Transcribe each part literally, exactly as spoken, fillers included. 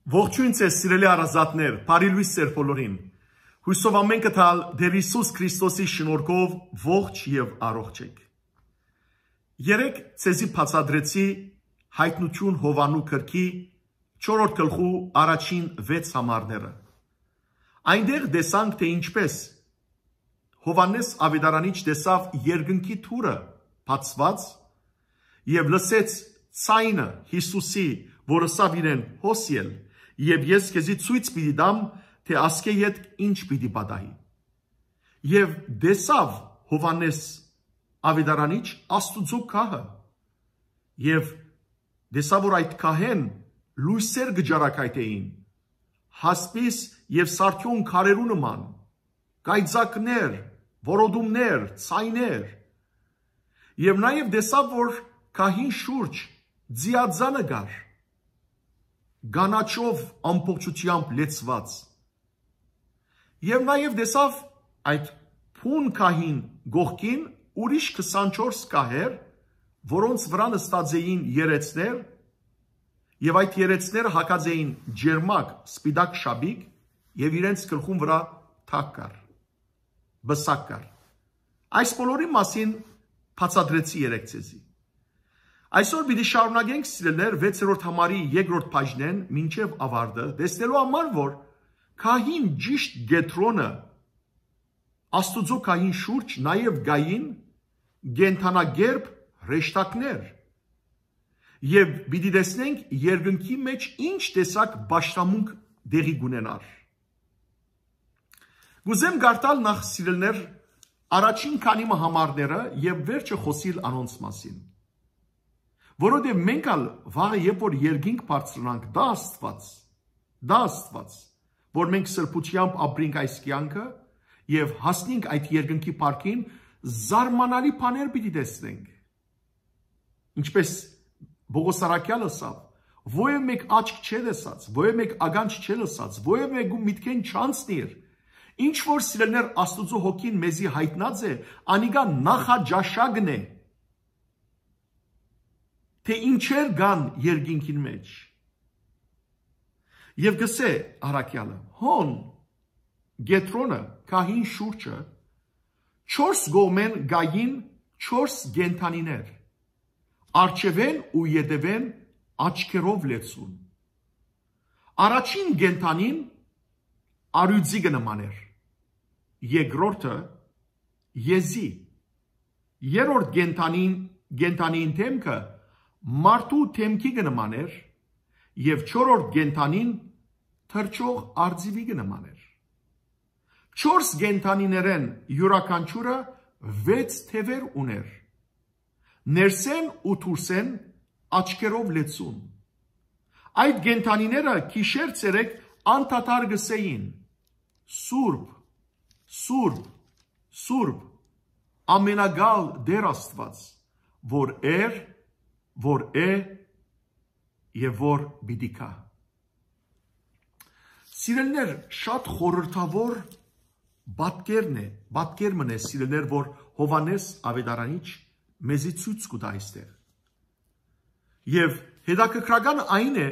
Ողջոյն ձեզ, սիրելի հարազատներ, բարի լոյս ձեր բոլորին։ Հոյսով ամէնքը թալ Տէր Յիսուս Քրիստոսի շնորհքով ողջ եւ առողջ էք։ Երեկ ձեզի բացատրեցի Յայտնութիւն Յովհաննու գրքի չորրորդ գլխու առաջին վեց համարները։ Այնտեղ տեսանք, թէ ինչպես Յովհաննէս Աւետարանիչ տեսաւ երկնքի դուռը բացուած եւ լսեց ձայնը Յիսուսի, որ ըսաւ իրեն. «Հոս ել, եւ ես քեզի ցոյց պիտի տամ, թէ ասկէ յետ ինչ պիտի պատահի»։ Եւ տեսաւ Յովհաննէս Աւետարանիչ Աստուծոյ գահը, եւ տեսաւ, որ այդ գահէն լոյսեր կը ճառագայթէին, հասպիս եւ սարդիոն քարերու նման, կայծակներ, որոտումներ, ձայներ։ Եւ նաեւ տեսաւ, որ գահին շուրջ ձիածանը կար, կանաչով ամբողջութեամբ լեցուած։ Եւ նաեւ տեսաւ այդ բուն գահին կողքին ուրիշ քսանչորս գահեր, որոնց վրայ նստած էին երեցներ, եւ այդ երեցները հագած էին ճերմակ սպիտակ շապիկ, եւ իրենց գլխուն վրայ թագ կար, պսակ կար։ Այս բոլորի մասին բացատրեցի երեկ ձեզի։ Այսօր պիտի շարունակենք, սիրելիներ, վեցերորդ համարի երկրորդ բաժնէն մինչեւ ավարտը, տեսնելու համար, որ գահին ճիշտ կեդրոնը, Աստուծոյ գահին շուրջ, նաեւ կային կենդանակերպ հրեշտակներ, եւ պիտի տեսնենք երկնքի մէջ ինչ տեսակ պաշտամունք տեղի կունենար։ Կուզեմ կարդալ նախ, սիրելիներ, առաջին քանի մը համարները եւ վերջը խօսիլ անոնց մասին։ Որովհետեւ մենք ալ վաղը, երբ որ երկինք բարձրանանք, դա Աստուած, դա Աստուած, որ մենք սրբութեամբ ապրենք այս կեանքը եւ հասնենք այդ երկնքի փառքին, զարմանալի բաներ պիտի տեսնենք։ Ինչպես Պողոս առաքեալ ըսաւ. «Ոեւ մէկ աչք չէ տեսած, ոեւ մէկ ականջ չէ լսած, ոեւ մէկու միտքէն չանցնիր։ Ինչ որ, սիրելիներ, Աստուծոյ հոգին մեզի յայտնած է, անիկա նախաճաշակն է, թէ ինչեր կան երկինքին մէջ»։ Եւ կ'ըսէ առաքեալը. հոն, կեդրոնը, գահին շուրջը, չորս կողմէն կային չորս կենդանիներ, առջեւէն ու ետեւէն աչքերով լեցուն։ Առաջին կենդանին առիւծի կը նման էր, երկրորդը՝ եզի, երրորդ կենդանին, կենդանին դէմքը մարդու դէմքի կը նման էր, եւ չորրորդ կենդանին թռչող արծիւի կը նման էր։ Չորս կենդանիներէն իւրաքանչիւրը վեց թեւեր ունէր, ներսէն ու դուրսէն աչքերով լեցուն։ Այդ կենդանիները գիշեր ցերեկ անդադար կ'ըսէին. «Սուրբ, սուրբ, սուրբ, ամենակալ Տէր Աստուած, որ էր, որ է եւ որ պիտի գայ»։ Սիրելիներ, շատ խորհրդաւոր պատկերն է, պատկեր մըն է, սիրելիներ, որ Յովհաննէս Աւետարանիչ մեզի ցոյց կու տայ այստեղ։ Եւ հետաքրքրական այն է,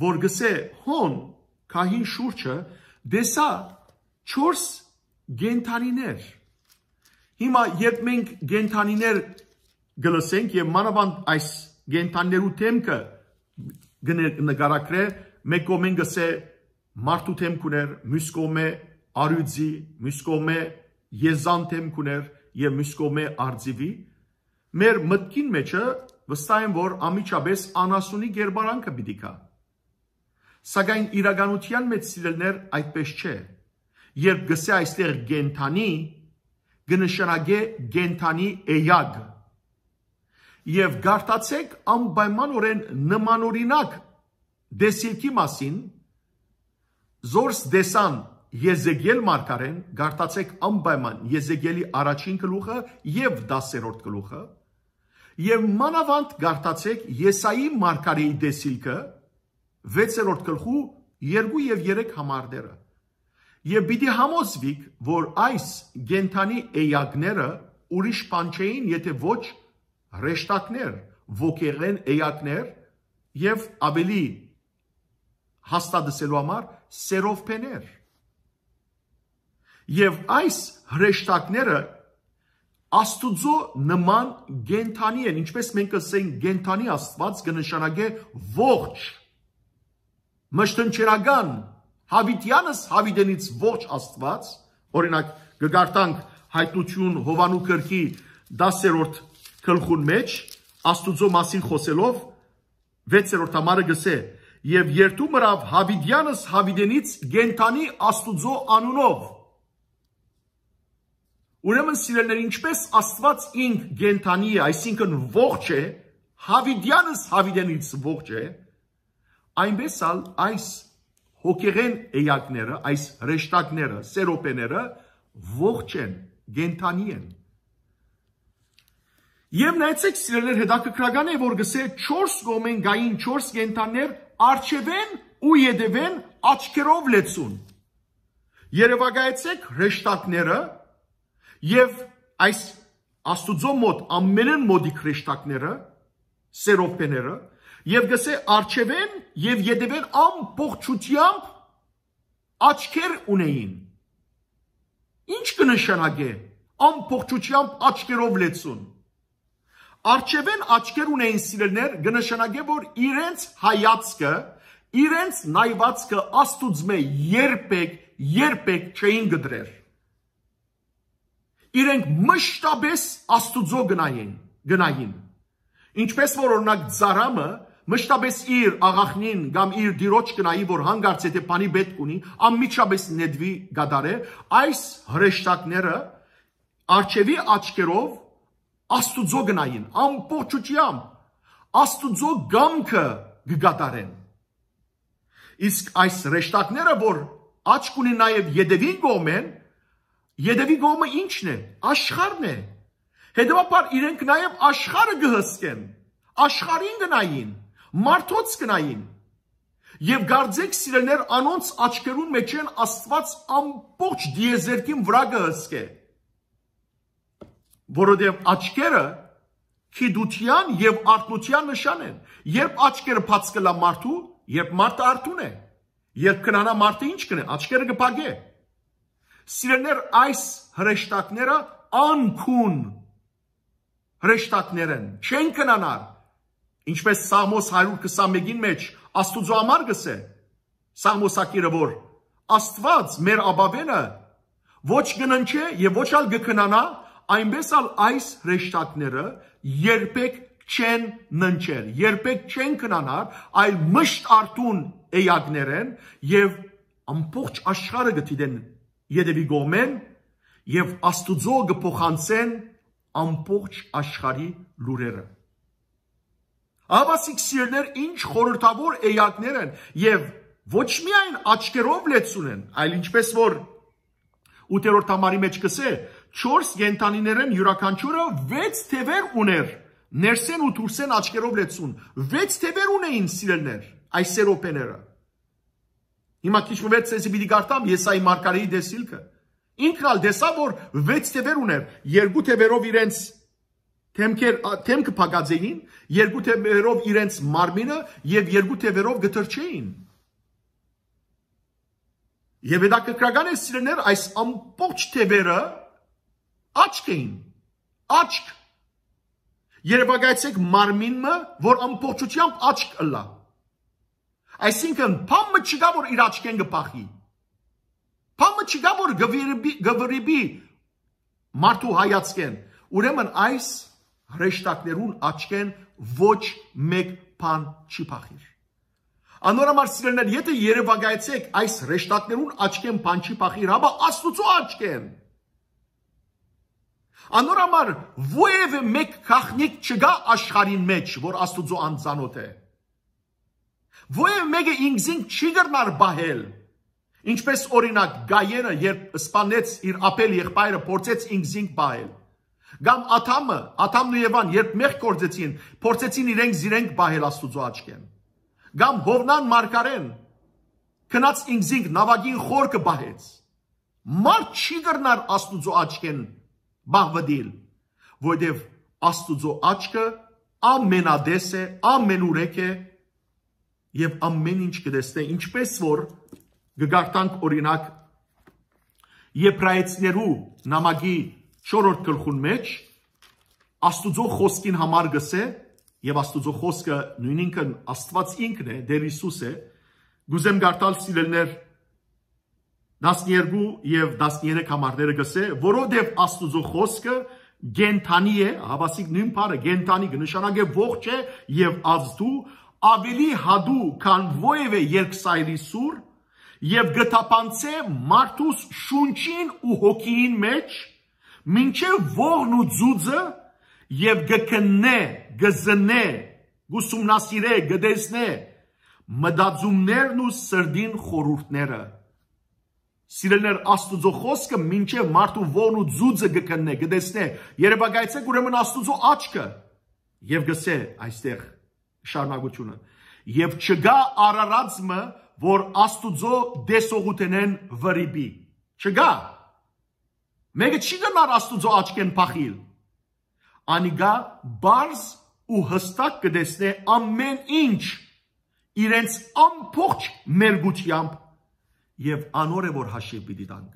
որ գսե հոն, գահին շուրջը, տեսայ չորս կենդանիներ։ Հիմա, երբ մենք կենդանիներ կը լսենք, եւ մանաւանդ այս կենդանիներու դէմքը կը ն-, նկարագրէ, մէկ կողմէն գսե մարդու դէմք ունէր, միւս կողմէ արիւծի, միւս կողմէ եզան դէմք ունէր եւ միւս կողմէ արծիւի, մեր մտքին մէջը վստահ եմ, որ անմիջապէս անասունի կերպարանքը պիտի գայ։ Սակայն իրականութեան մէջ, սիրելիներ, այդպէս չէ։ Երբ գսե այստեղ կենդանի, կը նշանակէ կենդանի էակ։ Եւ կարդացէք անպայմանօրէն նմանօրինակ տեսիլքի մասին, զորս տեսան Եզեկիել մարգարէն, կարդացէք անպայման Եզեկիելի առաջին գլուխը եւ տասերորդ գլուխը, եւ մանաւանդ կարդացէք Եսայի մարգարէի տեսիլքը, վեցերորդ գլխու երկու եւ երեք համարները։ Եւ պիտի համոզուիք, որ այս կենդանի էակները ուրիշ բան չէին, եթէ ոչ հրեշտակներ, ոգեղէն էակներ, եւ ավելի հաստատելու համար սերովբեներ։ Եւ այս հրեշտակները Աստուծոյ նման կենդանի են, ինչպես մենք կ'ըսենք, կենդանի Աստուած կը նշանակէ ողջ, մշտնջենական, յաւիտեանս յաւիտենից ողջ Աստուած, օրինակ, կը կարդանք Հայտնութիւն Յովհաննու գրքի տասերորդ գլխուն մէջ, Աստուծոյ մասին խօսելով, վեցերորդ համարը կ'ըսէ. «Եւ երթու մըրաւ յաւիտեանս յաւիտենից կենդանի Աստուծոյ անունով»։ Ուրեմն, սիրելիներ, ինչպես Աստուած ինք կենդանի է, այսինքն ողջ է, յաւիտեանս յաւիտենից ողջ է, այնպես ալ այս հոգեղէն էակները, այս հրեշտակները, սերոբեները ողջ են, կենդանի են։ Եւ նայեցեք, սիրելիներ, հետաքրքրական է, որ գսէ չորս կողմէն գային չորս կենդաններ, արջեւէն ու ետեւէն աչքերով լեցուն։ Երեւակայեցեք հրեշտակները եւ այս Աստուծոյ մոտ ամենէն մօտիկ հրեշտակները, սերովբեները, եւ գսէ արջեւէն եւ ետեւէն ամբողջութեամբ աչքեր ունեին։ Ինչ կը նշանակէ ամբողջութեամբ աչքերով լեցուն։ Արջեւէն աչքեր ունեին, սիրելիներ, կը նշանակէ, որ իրենց հայացքը, իրենց նայվածքը Աստուծմէ երբեք, երբեք չէին կտրեր։ Իրենք մշտապես Աստուծոյ գնային, գնային։ Ինչպես որ, օրինակ, ծառամը մշտապես իր աղախնին կամ իր տիրոջ գնայի, որ հանկարծ եթե բանի պէտք ունի, անմիջապես նետուի կատարէ, այս հրեշտակները արջեւի աչքերով Աստուծոյ գնային, ամբողջութեամբ Աստուծոյ կամքը կը կատարեն։ Իսկ այս հրեշտակները, որ աչք ունին նաեւ ետեւին կողմէն, ետեւի կողմը ի՞նչն է։ Աշխարհն է։ Հետեւաբար իրենք նաեւ աշխարհը կը հսկեն, աշխարհին կը նային, մարդոց կը նային։ Եւ կարծեք, սիրելիներ, անոնց աչքերուն մէջէն Աստուած ամբողջ տիեզերքին վրայ կը հսկէ, որովհետեւ աչքերը գիտութեան եւ արթնութեան նշան են։ Երբ աչքերը բաց կ'ըլլայ մարդու, երբ մարդը արթուն է, երբ քնանայ մարդը, ի՞նչ կ'ընէ, աչքերը կը փակէ։ Սիրելիներ, այս հրեշտակները անքուն հրեշտակներ են, չեն քնանար, ինչպես Սաղմոս հարիւր քսանմէկին մէջ Աստուծոյ համար կ'ըսէ Սաղմոսագիրը, որ Աստուած մեր ապաւէնը ոչ կը ննջէ եւ ոչ ալ կը քնանայ, այնպես ալ այս հրեշտակները երբեք չեն ննջեր, երբեք չեն քնանար, այլ միշտ արթուն էակներ են եւ ամբողջ աշխարհը կը դիտեն ետեւի կողմէն եւ Աստուծոյ կը փոխանցեն ամբողջ աշխարհի լուրերը։ Ահա, սիրելիներ, ինչ խորհրդավոր էակներ են եւ ոչ միայն աչքերով լեցուն են, այլ, ինչպես որ ութերորդ համարի մէջ կ'ըսէ, չորս կենդանիներէն իւրաքանչիւրը վեց թեւեր ունէր, ներսէն ու դուրսէն աչքերով լեցուն, վեց թեւեր ունէին, սիրելիներ, այս սերոբեները։ Հիմա քիչ մը վեր ձեզի պիտի կարդամ Եսայի մարգարեի տեսիլքը։ Ինքն ալ տեսաւ, որ վեց թեւեր ունէր, երկու թեւերով իրենց դեմքեր, ա, դեմքը փակած էին, երկու թեւերով իրենց մարմինը եւ երկու թեւերով կը թռչէին։ Եւ հետաքրքրական է, սիրելիներ, այս ամբողջ թեւերը աչք էին, աչք։ Երեւակայեցեք մարմին մը, որ ամբողջութեամբ աչք ըլլայ։ Այսինքն, բան մը չկայ, որ իր աչքէն կը փախի։ Բան մը չկայ, որ կը վրիպի, կը վրիպի մարդու հայացքէն։ Ուրեմն այս հրեշտակներուն աչքէն ոչ մէկ բան չի փախիր։ Անոր համար, սիրելիներ, եթե երեւակայեցեք այս հրեշտակներուն աչքէն բան չի փախիր, հապա Աստուծոյ աչքէն։ Անոր համար որեւէ մէկ գաղտնիք չկայ աշխարհին մէջ, որ Աստուծոյ անծանօթ է։ Որեւէ մէկը ինքզինք չի կրնար պահել, ինչպես, օրինակ, Կայենը, երբ սպանեց իր Աբէլ եղբայրը, փորձեց ինքզինք պահել։ Կամ Ադամը, Ադամն ու Եվան, երբ մեղք գործեցին, փորձեցին իրենք զիրենք պահել Աստուծոյ աչքէն։ Կամ Յովնան մարգարեն գնաց ինքզինք, նաւակին խորքը պահեց։ Մարդ չի կրնար Աստուծոյ աչքէն պահուտիլ, որովհետեւ Աստուծոյ աչքը ամենատես է, ամենուրեք է, Եւ ամեն ինչ կը տեսնէ, ինչպես որ կը կարդանք, օրինակ, Եբրայեցիներու նամակի չորրորդ գլխուն մէջ, Աստուծոյ խօսքին համար կ'ըսէ, եւ Աստուծոյ խօսքը նոյնինքն Աստուած ինքն է, Տէր Յիսուս է, կ'ուզեմ կարդալ, սիրելիներ, տասներկու եւ տասներեք համարները կ'ըսէ, որովհետեւ Աստուծոյ խօսքը կենդանի է, հաւասիկ նոյն բառը, կենդանի, կը նշանակէ ողջ է եւ ազդու, ավելի յատու, քան որեւէ երկսայրի սուր, եւ կը թափանցէ մարդուս շունչին ու հոգիին մէջ, մինչեւ ողն ու ձուձը, եւ կը քննէ, կը զննէ, կ'ուսումնասիրէ, կը տեսնէ մտածումներն ու սրտին խորհուրդները։ Սիրելիներ, Աստուծոյ խօսքը մինչեւ մարդու ողն ու ձուձը կը քննէ, կը տեսնէ։ Երեւակայեցէք ուրեմն Աստուծոյ աչքը եւ կ'ըսէ այստեղ շարունակությունը. «Եւ չկայ արարած մը, որ Աստուծոյ տեսողութենէն վրիպի»։ Չկայ։ Մէկը չի կրնար Աստուծոյ աչքէն փախիլ։ Անիկա պարզ ու յստակ կը տեսնէ ամեն ինչ իրենց ամբողջ մերկութեամբ, եւ անոր է որ հաշիւ պիտի տանք։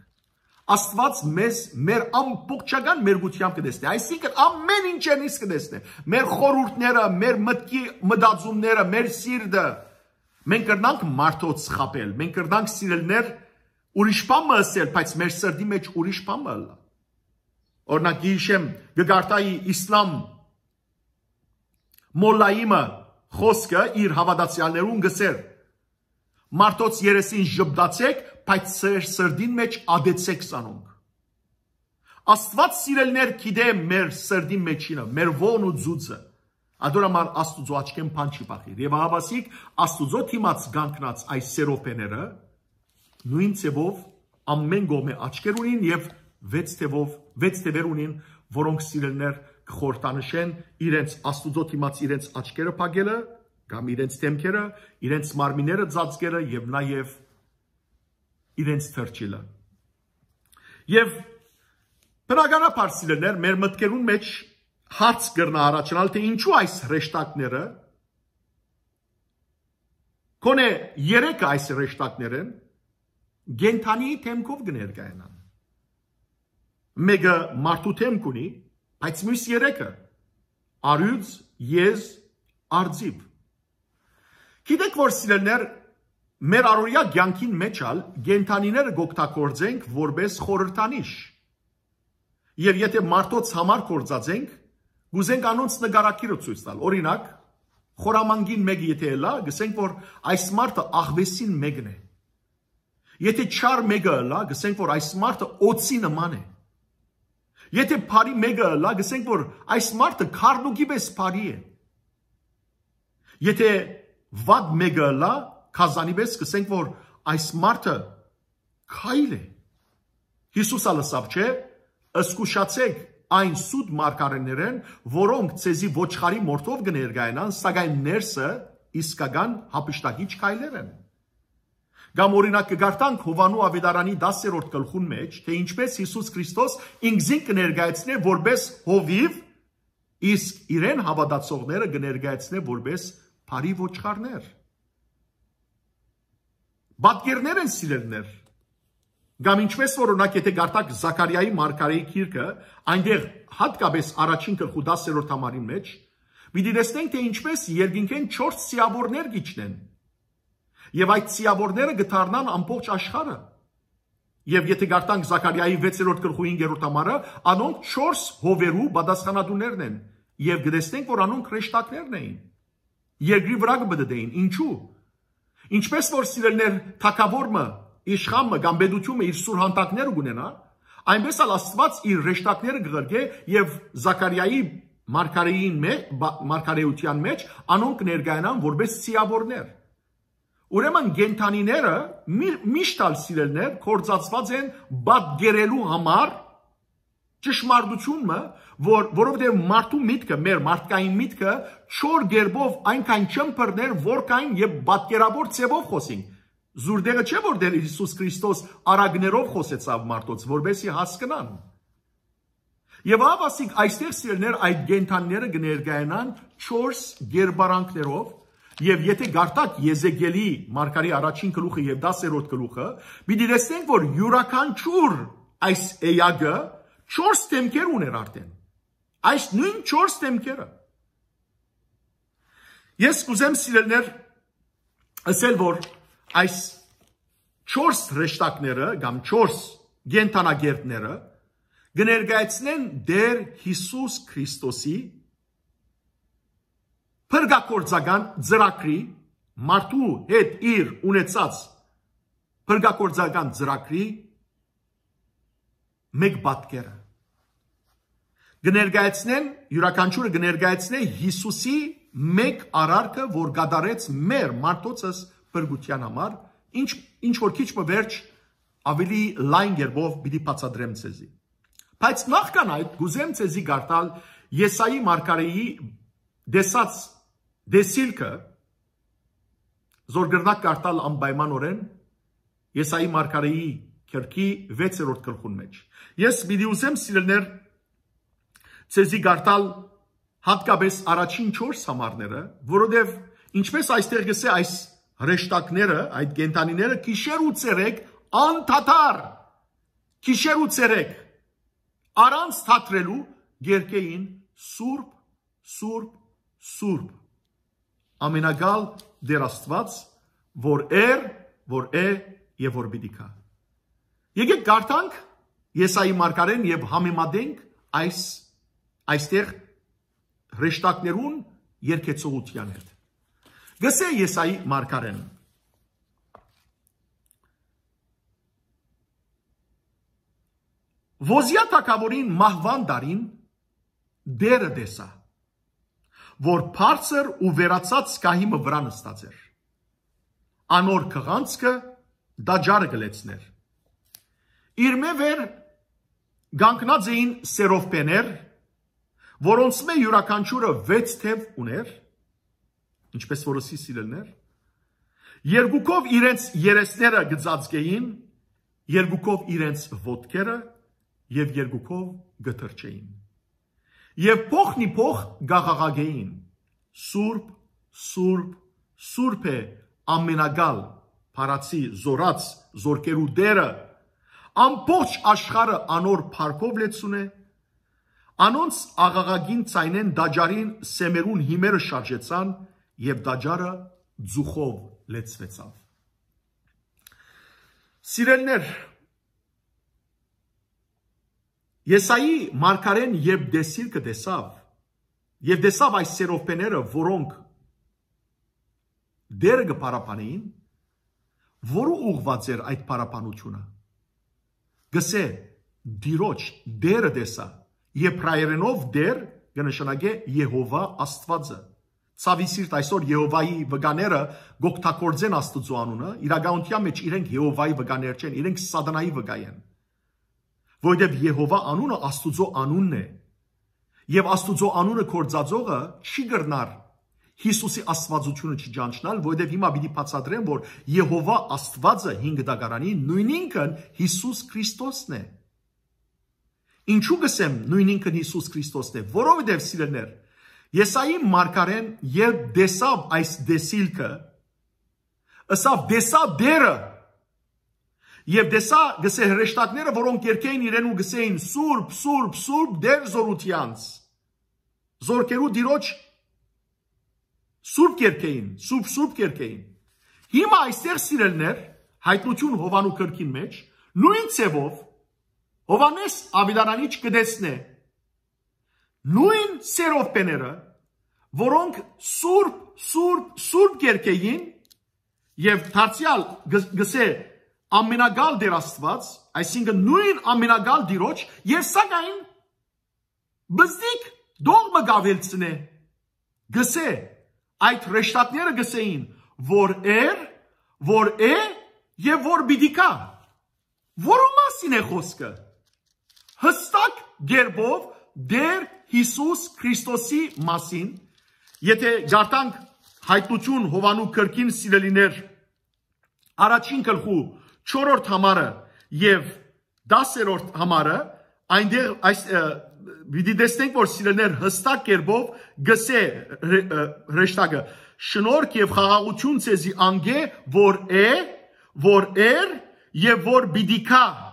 Աստուած մեզ մեր ամբողջական մերկութեամբ կը տեսնէ, այսինքն ամեն ինչերնից կը տեսնէ, մեր խորհուրդները, մեր մտքի մտածումները, մեր սիրտը։ Մենք կրնանք մարդոց խաբել, մենք կրնանք, սիրելիներ, ուրիշ բան մը ըսել, բայց մեր սրտի մէջ ուրիշ բան մը ըլլայ։ Օրինակ, գիշեմ կը կարդայի Իսլամ Մոլլայի մը խօսքը իր հաւատացեալներուն կ'ըսէր. «Մարդոց երեսին ժպտացէք, բայց ձեր սրտին մէջ ատեցէք զանոնք»։ Աստուած, սիրելիներ, գիտէ մեր սրտին մէջինը, մեր ողն ու ձուձը։ Ատոր համար Աստուծոյ աչքէն բան չի փախիր։ Եւ ահաւասիկ Աստուծոյ դիմաց կանգնած այս սերոբեները նոյն ձեւով ամեն կողմէ աչքեր ունին եւ վեց թեւով, վեց թեւեր ունին, որոնք, սիրելիներ, կը խորհրդանշեն իրենց Աստուծոյ դիմաց իրենց աչքերը փակելը կամ իրենց դեմքերը, իրենց մարմինները ծածկելը եւ նաեւ իրենց թռչիլը։ Եւ բնականաբար, սիրելիներ, մեր մտքերուն մէջ հարց կրնայ առաջանալ, թէ ինչու այս հրեշտակները, գոնե երեքը այս հրեշտակներէն, կենդանիի դեմքով կը ներկայանան։ Մէկը մարդու դեմք ունի, բայց միւս երեքը՝ առիւծ, եզ, արծիւ։ Գիտեք որ, սիրելիներ, մեր առօրեայ կեանքին մէջ ալ կենդանիները կ'օգտագործենք որպէս խորհրդանիշ։ Եւ եթէ մարդոց համար գործած ենք, կ'ուզենք անոնց նկարագիրը ցոյց տալ։ Օրինակ, խորամանկին մէկը եթէ ըլլայ, կ'ըսենք որ այս մարդը աղուէսին մէկն է։ Եթէ չար մէկը ըլլայ, կ'ըսենք որ այս մարդը օձի նման է։ Եթէ բարի մէկը ըլլայ, կ'ըսենք որ այս մարդը քառնուկի պէս բարի է։ Եթէ վատ մէկը ըլլայ, գազանի պէս, կ'ըսենք որ այս մարդը քայլ է։ Յիսուս ալ ըսաւ, չէ՞, զգուշացէք այն սուտ մարգարէներէն, որոնք ձեզի ոչխարի մորթով կը ներկայանան, սակայն ներսը իսկական յափշտակիչ քայլեր են։ Կամ օրինակ կը կարդանք Յովհաննու աւետարանի տասերորդ գլխուն մէջ, թէ ինչպես Յիսուս Քրիստոս ինքզինք կը ներկայացնէ որպէս հովիւ, իսկ իրեն հաւատացողները կը ներկայացնէ որպէս բարի ոչխարներ։ Պատկերներ են, սիրելիներ։ Կամ ինչպես որ, օրինակ, եթէ կարդաք Զաքարիայի մարգարեի գիրքը, այնտեղ հատկապես առաջին գլխու տասերորդ համարին մէջ, պիտի տեսնենք, թէ ինչպես երկինքէն չորս սիաւորներ կ'իջնեն։ Եւ այդ սիաւորները կը դառնան ամբողջ աշխարհը։ Եւ եթէ կարդանք Զաքարիայի վեցերորդ գլխու հինգերորդ համարը, անոնք չորս հովերու պատասխանատուներն են, եւ կը տեսնենք, որ անոնք հրեշտակներն էին։ Երկրի վրայ կը պտտէին։ Ինչու՞։ Ինչպես որ, սիրելիներ, թագաւոր մը, իշխան մը կամ պետութիւն մը իր սուր հանդակները կ'ունենայ, այնպես ալ Աստուած իր հրեշտակները կը ղրկէ եւ Զաքարիայի մարգարեին մէ-, բա-, մարգարեութեան մէջ անոնք կը ներկայանան որպէս սիաւորներ։ Ուրեմն կենդանիները մի-, միշտ ալ, սիրելիներ, կործածուած են պատկերելու համար ճշմարտություն մը, որ, որովհետեւ մարդու միտքը, մեր մարդկային միտքը չոր կերպով այնքան չըմբռներ, որքան եւ պատկերավոր ձևով խօսինք։ Զուր տեղը չէ, որ Տէր Յիսուս Քրիստոս արագներով խօսեցաւ մարդոց, որպեսզի հասկնան։ Եւ ահա ասիկ այստեղ, սիրելիներ, այդ կենդանիները կը ներկայանան չորս կերպարանքներով, Եւ եթե գարտակ Եզեկիելի մարգարի առաջին գլուխը եւ տասերորդ գլուխը, պիտի տեսնենք, որ յուրաքանչյուր այս էակը չորս դեմքեր ուներ արդեն։ Այս նոյն չորս դեմքերը։ Ես կուզեմ, սիրելիներ, ասել, որ այս չորս հրեշտակները կամ չորս կենդանագերտները կը ներկայացնեն Տեր Յիսուս Քրիստոսի փրկագործական ծրագրի, մարդու հետ իր ունեցած փրկագործական ծրագրի մէկ պատկերը։ Կը ներկայացնեն, յուրաքանչիւրը կը ներկայացնէ Յիսուսի մէկ արարքը, որ կատարեց մեր մարդոցս փրկութեան համար, ինչ, ինչ որ քիչ մը վերջ ավելի լայն կերպով պիտի բացատրեմ ձեզի։ Բայց նախքան այդ, կուզեմ ձեզի կարդալ Եսայի մարգարեի տեսած տեսիլքը, զոր կրնակ կարդալ անպայմանօրէն Եսայի մարգարեի քերքի վեցերորդ գլխուն մեջ։ Ես պիտի ուզեմ, սիրելիներ, ձեզի կարդալ հատկապես առաջին չորս համարները, որովհետև, ինչպես այստեղ կսե, այս հրեշտակները, այդ կենդանիները գիշեր ու ցերեկ անդադար, գիշեր ու ցերեկ առանց թատրելու կերկեին. «Սուրբ, սուրբ, սուրբ, ամենակալ Տեր Աստուած, որ էր, որ է եւ որ պիտի գայ»։ Եկեք կարդանք Եսայի մարգարեն եւ համեմատենք այս, այստեղ հրեշտակներուն երգեցողութեան հետ։ Գսե Եսայի մարգարեն. Ոզիա թագաւորին մահուան տարին Տերը տեսայ, որ բարձր ու վերացած գահի մը վրայ նստած էր։ Անոր քղանցքը տաճարը կը լեցնէր։ Իրմէ վեր կանգնած էին սերովբեներ, որոնցմէ յուրաքանչիւրը վեց թեւ ունէր, ինչպես որ ըսի, սիրելիներ, երկուքով իրենց երեսները կը ծածկէին, երկուքով իրենց ոտքերը եւ երկուքով կը թռչէին։ Եւ փոխնիփոխ կ'աղաղակէին. «Սուրբ, սուրբ, սուրբ է ամենակալ, փառացի, զօրաց, զորքերու Տերը, ամբողջ աշխարհը անոր փառքով լեցուն է»։ Անոնց աղաղակին ձայնէն տաճարին սեմերուն հիմերը շարժեցան եւ տաճարը ծուխով լեցուեցաւ։ Սիրելիներ, Եսայի մարգարեն երբ տեսիլքը տեսաւ, եւ տեսաւ այս սերովբեները, որոնք Տերը կը փառաբանէին, որու ուղղուած էր այդ փառաբանութիւնը։ Գսե. «Տիրոջ, Տերը տեսայ»։ Եբրայերէնով Տեր կը նշանակէ Եհովա Աստուածը։ Ցաւի սիրտ, այսօր Եհովայի վկաները կ'օգտագործեն Աստուծոյ անունը, իրականութեան մէջ իրենք Եհովայի վկաներ չեն, իրենք Սատանայի վկայ են։ Որովհետեւ Եհովա անունը Աստուծոյ անունն է։ Եւ Աստուծոյ անունը գործածողը չի կրնար Յիսուսի Աստուածութիւնը չճանչնալ, որովհետեւ հիմա պիտի բացատրեմ, որ Եհովա Աստուածը հին դագարանի նոյնինքն Յիսուս Քրիստոսն է։ Ինչու կսեմ նոյնինքն Յիսուս Քրիստոսն է, որովհետեւ, սիրելիներ, Եսայի մարգարեն երբ տեսաւ այս տեսիլքը, ըսաւ. «Տեսայ Տերը»։ Եւ տեսայ, գսե, հրեշտակները, որոնք երգէին իրեն ու գսէին. «Սուրբ, սուրբ, սուրբ, Տեր զօրութեանց, զորքերու Տիրոջ», սուրբ կերգէին, սուրբ, սուրբ կերգէին։ Հիմա այստեղ, սիրելիներ, Հայտնություն Յովանու գրքին մեջ, նոյն ձեւով Յովհաննէս Աւետարանիչ կը տեսնէ նոյն սերովբեները, որոնք սուրբ, սուրբ, սուրբ կերգէին, եւ դարձեալ գ-, գսէ ամենակալ Տեր Աստուած, այսինքն նոյն ամենակալ Տիրոջ, եւ սակայն բզդիկ դող մը կ'աւելցնէ, գսէ, այդ հրեշտակները գսէին, որ էր, որ է եւ որ պիտի գայ։ Որու մասին է խոսքը։ Հստակ կերպով Տեր Յիսուս Քրիստոսի մասին, եթե գարտանք Հայտնություն Յովանու գրքին, սիրելիներ, առաջին գլխու չորրորդ համարը եւ տասերորդ համարը, այնտեղ այս, ը, պիտի տեսնենք, որ սիրելիներ հստակ կերպով գսե հրեշտակը. «Շնորհք եւ խաղաղություն ձեզի անկէ, որ է, որ էր եւ որ պիտի գայ»։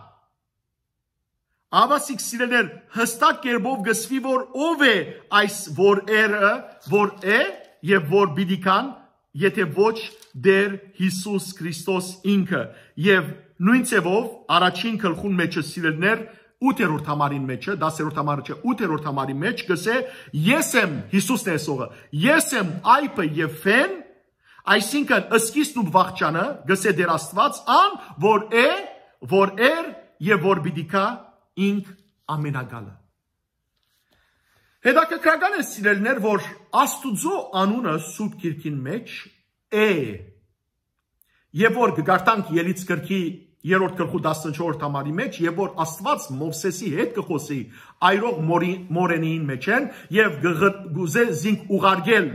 Ահա սիրելիներ, հստակ կերպով գսուի, որ ով է այս որ երը, որ է եւ որ պիտի գան, եթե ոչ Տեր Յիսուս Քրիստոս ինքը։ Եւ նոյն ձեւով առաջին գլխուն մէջը, սիրելիներ, ութերորդ համարին մէջը, դասերորդ համարը չէ, ութերորդ համարի մէջ գսէ. «Ես եմ», Յիսուսն է ասողը, «ես եմ այբը եւ ֆեն», այսինքն սկիզբն ու վախճանը, գսէ Տեր Աստուած, «ան, որ է, որ էր եւ որ պիտի գայ, ինք ամենակալը»։ Հետաքրքրական է, սիրելիներ, որ Աստուծոյ անունը Սուրբ Գիրքին մէջ է, եւ որ կկարդանք Ելից գրքի երրորդ գլխու տասնչորսերորդ համարի մէջ, եւ որ Աստուած Մովսէսի հետ կը խօսի այրող մորի-, մորենին մէջէն, եւ կը-, կը-, կ'ուզէ զինք ուղարկել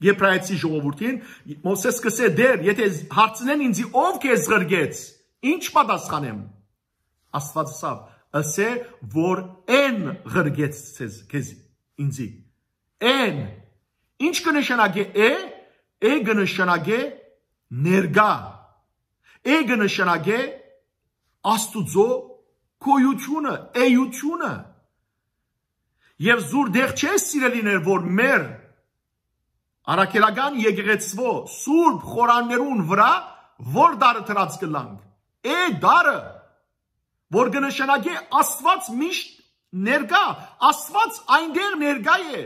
Եբրայեցի ժողովուրդին, Մովսէս կ'ըսէ. «Տեր, եթե հարցնեն ինձի, ո՞վ քեզ ղրկեց, ի՞նչ պատասխանեմ»։ Աստուած ըսաւ. «Ըսէ, որ էն ղրկեց ձեզ, քեզ, ինձի»։ Էն։ Ի՞նչ կը նշանակէ է։ Է կը նշանակէ ներկայ։ Է կը նշանակէ Աստուծոյ գոյութիւնը, էութիւնը։ Եւ զուր դեղ չէ, սիրելիներ, որ մեր առաքելական եկեղեցւոյ սուրբ խորաններուն վրայ որ տառը դրած կ'ըլլանք։ Է տառը, որ կը նշանակէ Աստուած միշտ ներկայ, Աստուած այնտեղ ներկայ է։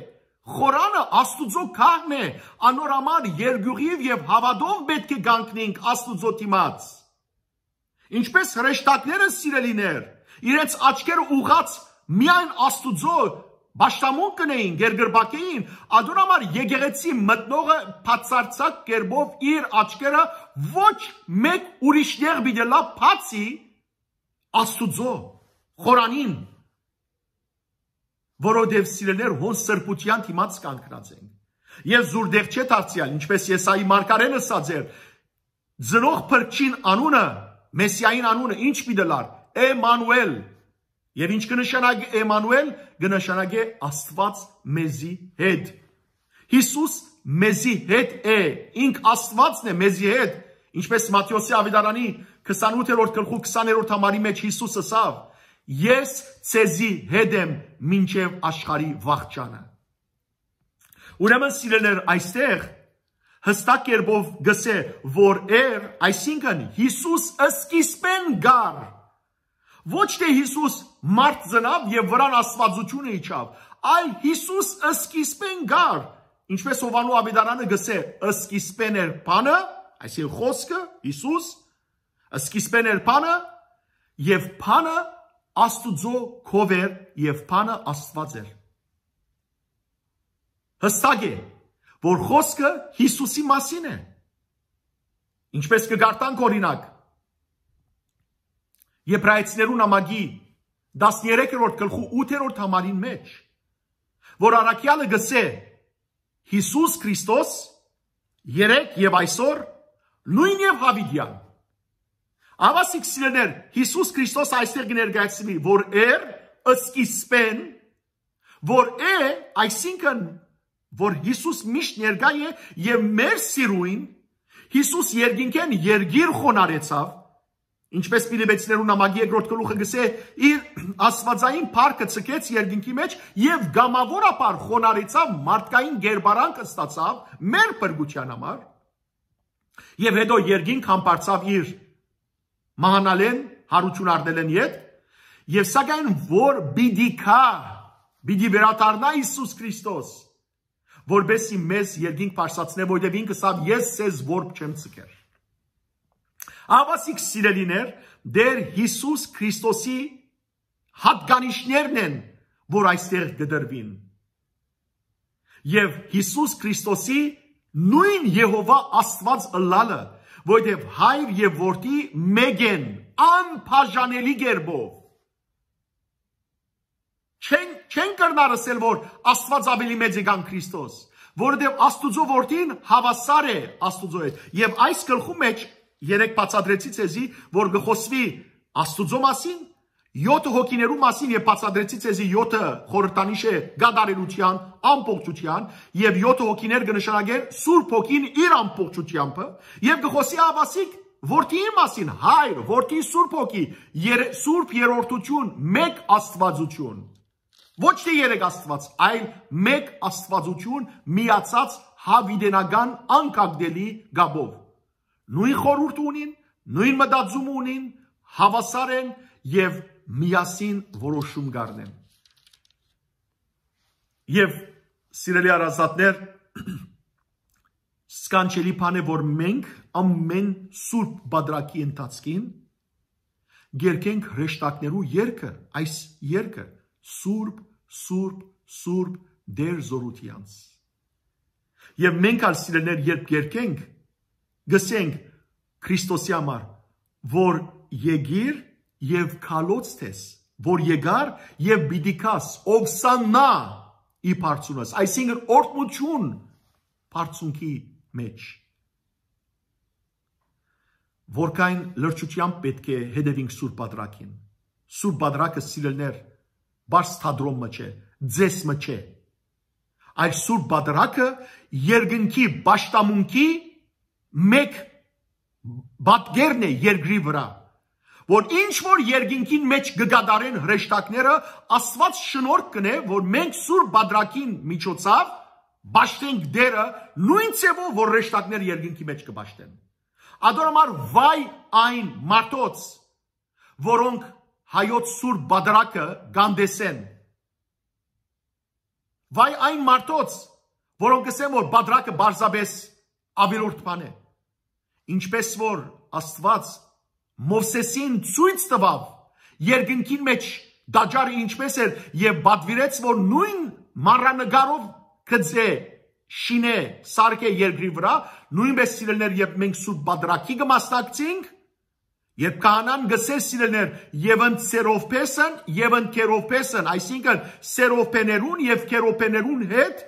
Խորանը Աստուծոյ գահն է, անոր համար երկիւղիւ եւ հաւատով պէտք է կանգնենք Աստուծոյ դիմաց։ Ինչպէս հրեշտակները, սիրելիներ, իրենց աչքերը ուղղած միայն Աստուծոյ պաշտամունք կ'ընէին, կերկրպագ էին, ադոր համար եկեղեցի մտնողը բացարձակ կերպով իր աչքերը ոչ մէկ ուրիշ տեղ պիտի լայ, բացի Աստուծոյ խորանին, որովհետեւ, սիրելիներ, հոն սրբութեան դիմաց կանգնած ենք։ Եւ զուր դեղ չէ դարձեալ, ինչպէս Եսայի մարգարէն ըսած էր, ծնող փրկչին անունը, Մեսիային անունը ի՞նչ պիտի լար։ Էմանուէլ։ Եւ ի՞նչ կը նշանակէ Էմանուէլ։ Կը նշանակէ Աստուած մեզի հետ։ Յիսուս մեզի հետ է, ինք Աստուածն է մեզի հետ, ինչպէս Մատթէոսի աւետարանի քսանութերորդ գլխու քսաներորդ համարի մէջ Յիսուս ըսաւ. «Ես ձեզի հետ եմ մինչեւ աշխարհի վախճանը»։ Ուրեմն, սիրելիներ, այստեղ հստակ կերպով գսէ, որ էր, այսինքն Յիսուս սկիզբէն կար։ Ոչ թէ Յիսուս մարդ ծնաւ եւ վրան Աստուածութիւնը իջաւ, այլ Յիսուս սկիզբէն կար, ինչպէս Յովհաննու աւետարանը գսէ. «Սկիզբէն էր բանը», այսինքն խօսքը, Յիսուս, «սկիզբէն էր բանը, եւ բանը Աստուծոյ քով էր, եւ բանը Աստուած էր»։ Հստակ է, որ խօսքը Յիսուսի մասին է։ Ինչպէս կը կարդանք, օրինակ, Եբրայեցիներու նամակի տասներեքերորդ գլխու ութերորդ համարին մէջ, որ առաքեալը գսէ. «Յիսուս Քրիստոս երեկ եւ այսօր նոյն եւ յաւիտեան»։ Ահա սիրելիներ, Յիսուս Քրիստոս այստեղ կը ներկայացնի, որ էր սկիզբէն, որ է, այսինքն, որ Յիսուս միշտ ներկայ է, եւ մեր սիրուն Յիսուս երկինքէն երկիր խոնարհեցաւ, ինչպէս Փիլիպեցիներու նամակի երկրորդ գլուխը գսէ, իր աստուածային փառքը ցկեց երկինքի մէջ եւ կամաւորաբար խոնարհեցաւ, մարդկային կերպարանք ստացաւ մեր փրկութեան համար, եւ հետո երկինք համբարձաւ իր մահանալէն, յարութիւն առնելէն յետ, եւ սակայն որ պիտի գայ, պիտի վերադառնայ Յիսուս Քրիստոս, որպեսզի մեզ երկինք բարձրացնէ, որտեւ ինք ըսաւ. «Ես ձեզ որբ չեմ ցկեր»։ Ահա սիրելիներ, Տեր Յիսուս Քրիստոսի յատկանիշներն են, որ այստեղ կը տրուին։ Եւ Յիսուս Քրիստոսի նոյն Եհովա Աստուած ըլլալը, որտեւ Հայր եւ Որդի մէկ են անբաժանելի կերպով։ Չեն, չեն կրնար ըսել, որ Աստուած աւելի մեծ է քան Քրիստոս, որովհետեւ Աստուծոյ Որդին հաւասար է Աստուծոյ հետ։ Եւ այս գլխու մէջ երեկ բացատրեցի ձեզի, որ կը խօսուի Աստուծոյ մասին յոթը հոգիներու մասին, եւ բացատրեցի ձեզի, յոթը խորհրդանիշ է կատարելութեան, ամբողջութեան, եւ յոթը հոգիներ կը նշանակեն Սուրբ Հոգին իր ամբողջութեամբը, եւ կը խօսի ավասիկ որդիին մասին, Հայր, Որդի, Սուրբ Հոգի, եր-, Սուրբ Երրորդություն, Մեկ Աստուածություն։ Ոչ թէ երեք Աստուած, այլ Մեկ Աստուածություն, միացած, յաւիտենական, անկագնելի կապով։ Նոյն խորհուրդը ունին, նոյն մտածումը ունին, հաւասար են եւ միասին որոշում կ'առնեն։ Եւ, սիրելի հարազատներ, սքանչելի բան է, որ մենք ամեն Սուրբ Պատրակի ընթացքին կերգենք հրեշտակներու երգը, այս երգը, Սուրբ, Սուրբ, Սուրբ, Տէր Զօրութեանց։ Եւ մենք ալ, սիրելիներ, երբ կերգենք, կ'ըսենք Քրիստոսի համար, որ եկիր եւ քալոց թես, որ եկար եւ պիտի գաս, ովսաննա ի բարձունս, այսինքն՝ օրհնութիւն բարձունքի մէջ։ Որքան լրջութեամբ պէտք է հետեւենք Սուրբ Պատրակին։ Սուրբ Պատրակը, սիրելիներ, պարզ թատրոն մը չէ, ձեզ մը չէ, այլ Սուրբ Պատրակը երկնքի պաշտամունքի մեկ պատկերն է երկրի վրայ, որ ինչ որ երկինքին մէջ կը կատարեն հրեշտակները, Աստուած շնորհք կ'ընէ, որ մենք Սուրբ Պատրակին միջոցաւ պաշտենք Տէրը նոյն ձեւով, որ հրեշտակները երկինքի մէջ կը պաշտեն։ Ատոր համար վայ այն մարդոց, որոնք հայոց Սուրբ Պատրակը կ'անտեսեն։ Վայ այն մարդոց, որոնք կ'ըսեն, որ Պատրակը պարզապէս աւելորդ բան է։ Ինչպէս որ Աստուած Մովսէսին ցոյց տուաւ երկնքին մէջ տաճարը ինչպէս էր եւ պատուիրեց, որ նոյն մանրանկարով կը ձէ շինէ, սարքէ երկրի վրայ, նոյնպէս, սիրելիներ, երբ մենք Սուրբ Պատրակի կը մասնակցենք, երբ քահանան կ'ըսէ, սիրելիներ, «Եւ ընդ սերովբեսն, եւ ընդ քերովբեսն», այսինքն՝ սերովբեներուն եւ քերովբեներուն հետ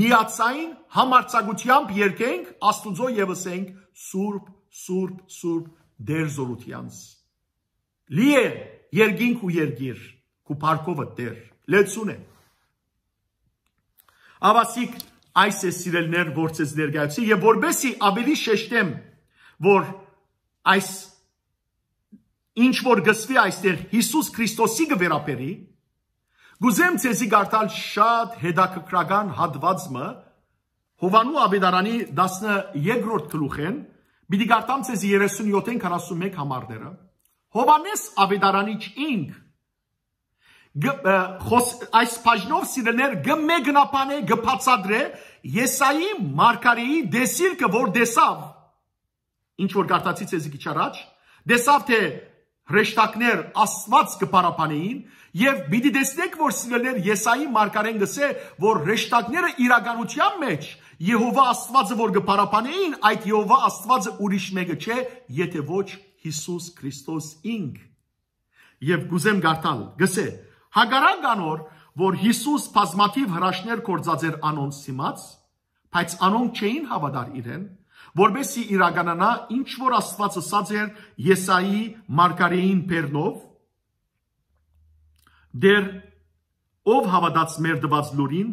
միացային համարձակութեամբ երգենք Աստուծոյ եւ ըսենք. «Սուրբ, Սուրբ, Սուրբ, Տէր Զօրութեանց։ Լի է երկինք ու երկիր քու փառքովդ, Տէր»։ Լեցուն է։ Ավասիկ այս է, սիրելիներ, որ ձեզ ներկայացի, եւ որպեսի ավելի շեշտեմ, որ այս ինչ որ կ'ըսուի այստեղ Յիսուս Քրիստոսի կը վերաբերի, կ'ուզեմ ձեզի կարդալ շատ հետաքրքրական հատուած մը, Յովհաննու Աւետարանի տասներկրորդ գլուխէն, պիտի կարդամ ձեզի երեսունյոթ, քառասունմեկ համարները։ Յովհաննէս Աւետարանիչ ինք գ-, ը, խոս-, այս բաժնով, սիրելիներ, կը մեկնաբանէ, կը բացատրէ Եսայի մարգարէի տեսիլքը, որ տեսաւ, ինչ որ կարդացի ձեզի քիչ առաջ, տեսաւ թէ հրեշտակներ Աստուած կը փառաբանէին, եւ պիտի տեսնէք, որ, սիրելիներ, Եսայի մարգարէն կ'ըսէ, որ հրեշտակները իրականության մէջ Եհովա Աստուածը որ կը փառաբանէին, այդ Եհովա Աստուածը ուրիշ մէկը չէ, եթէ ոչ Յիսուս Քրիստոս ինք։ Եւ կ'ուզեմ կարդալ, կ'ըսէ. «Հակառակ անոր, որ Յիսուս բազմաթիւ հրաշքներ գործած էր անոնց դիմաց, բայց անոնք չէին հաւատար իրեն, որպեսզի իրականանայ ինչ որ Աստուած ըսած էր Եսայի մարգարէին բերնով. "Տէր, ով հաւատաց մեր տուած լուրին,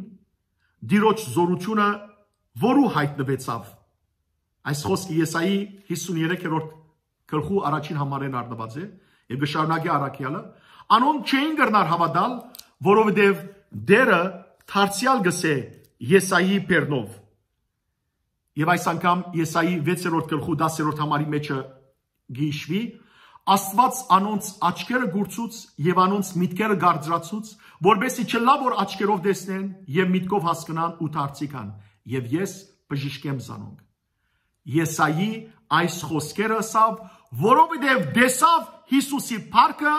Տիրոջ զօրութիւնը որու յայտնուեցաւ"»։ Այս խօսքը Եսայի հիսուն երեքերորդ գլխու առաջին համարէն առնուած է, եւ կը շարունակի առաքեալը. «Անոնք չէին կրնար հաւատալ, որովհետեւ Տէրը դարձեալ կ'ըսէ Եսայի բերնով»։ Եւ այս անգամ Եսայի վեցերորդ գլխու տասներորդ համարի մէջը գիշվի. «Աստուած անոնց աչքերը կուրցուց եւ անոնց միտքերը կարծրացուց, որպեսզի չըլլայ որ աչքերով տեսնեն եւ միտքով հասկնան ու դարձի գան, եւ ես բժշկեմ զանոնք»։ Եսայի այս խօսքերը ըսաւ, որովհետեւ տեսաւ Յիսուսի փառքը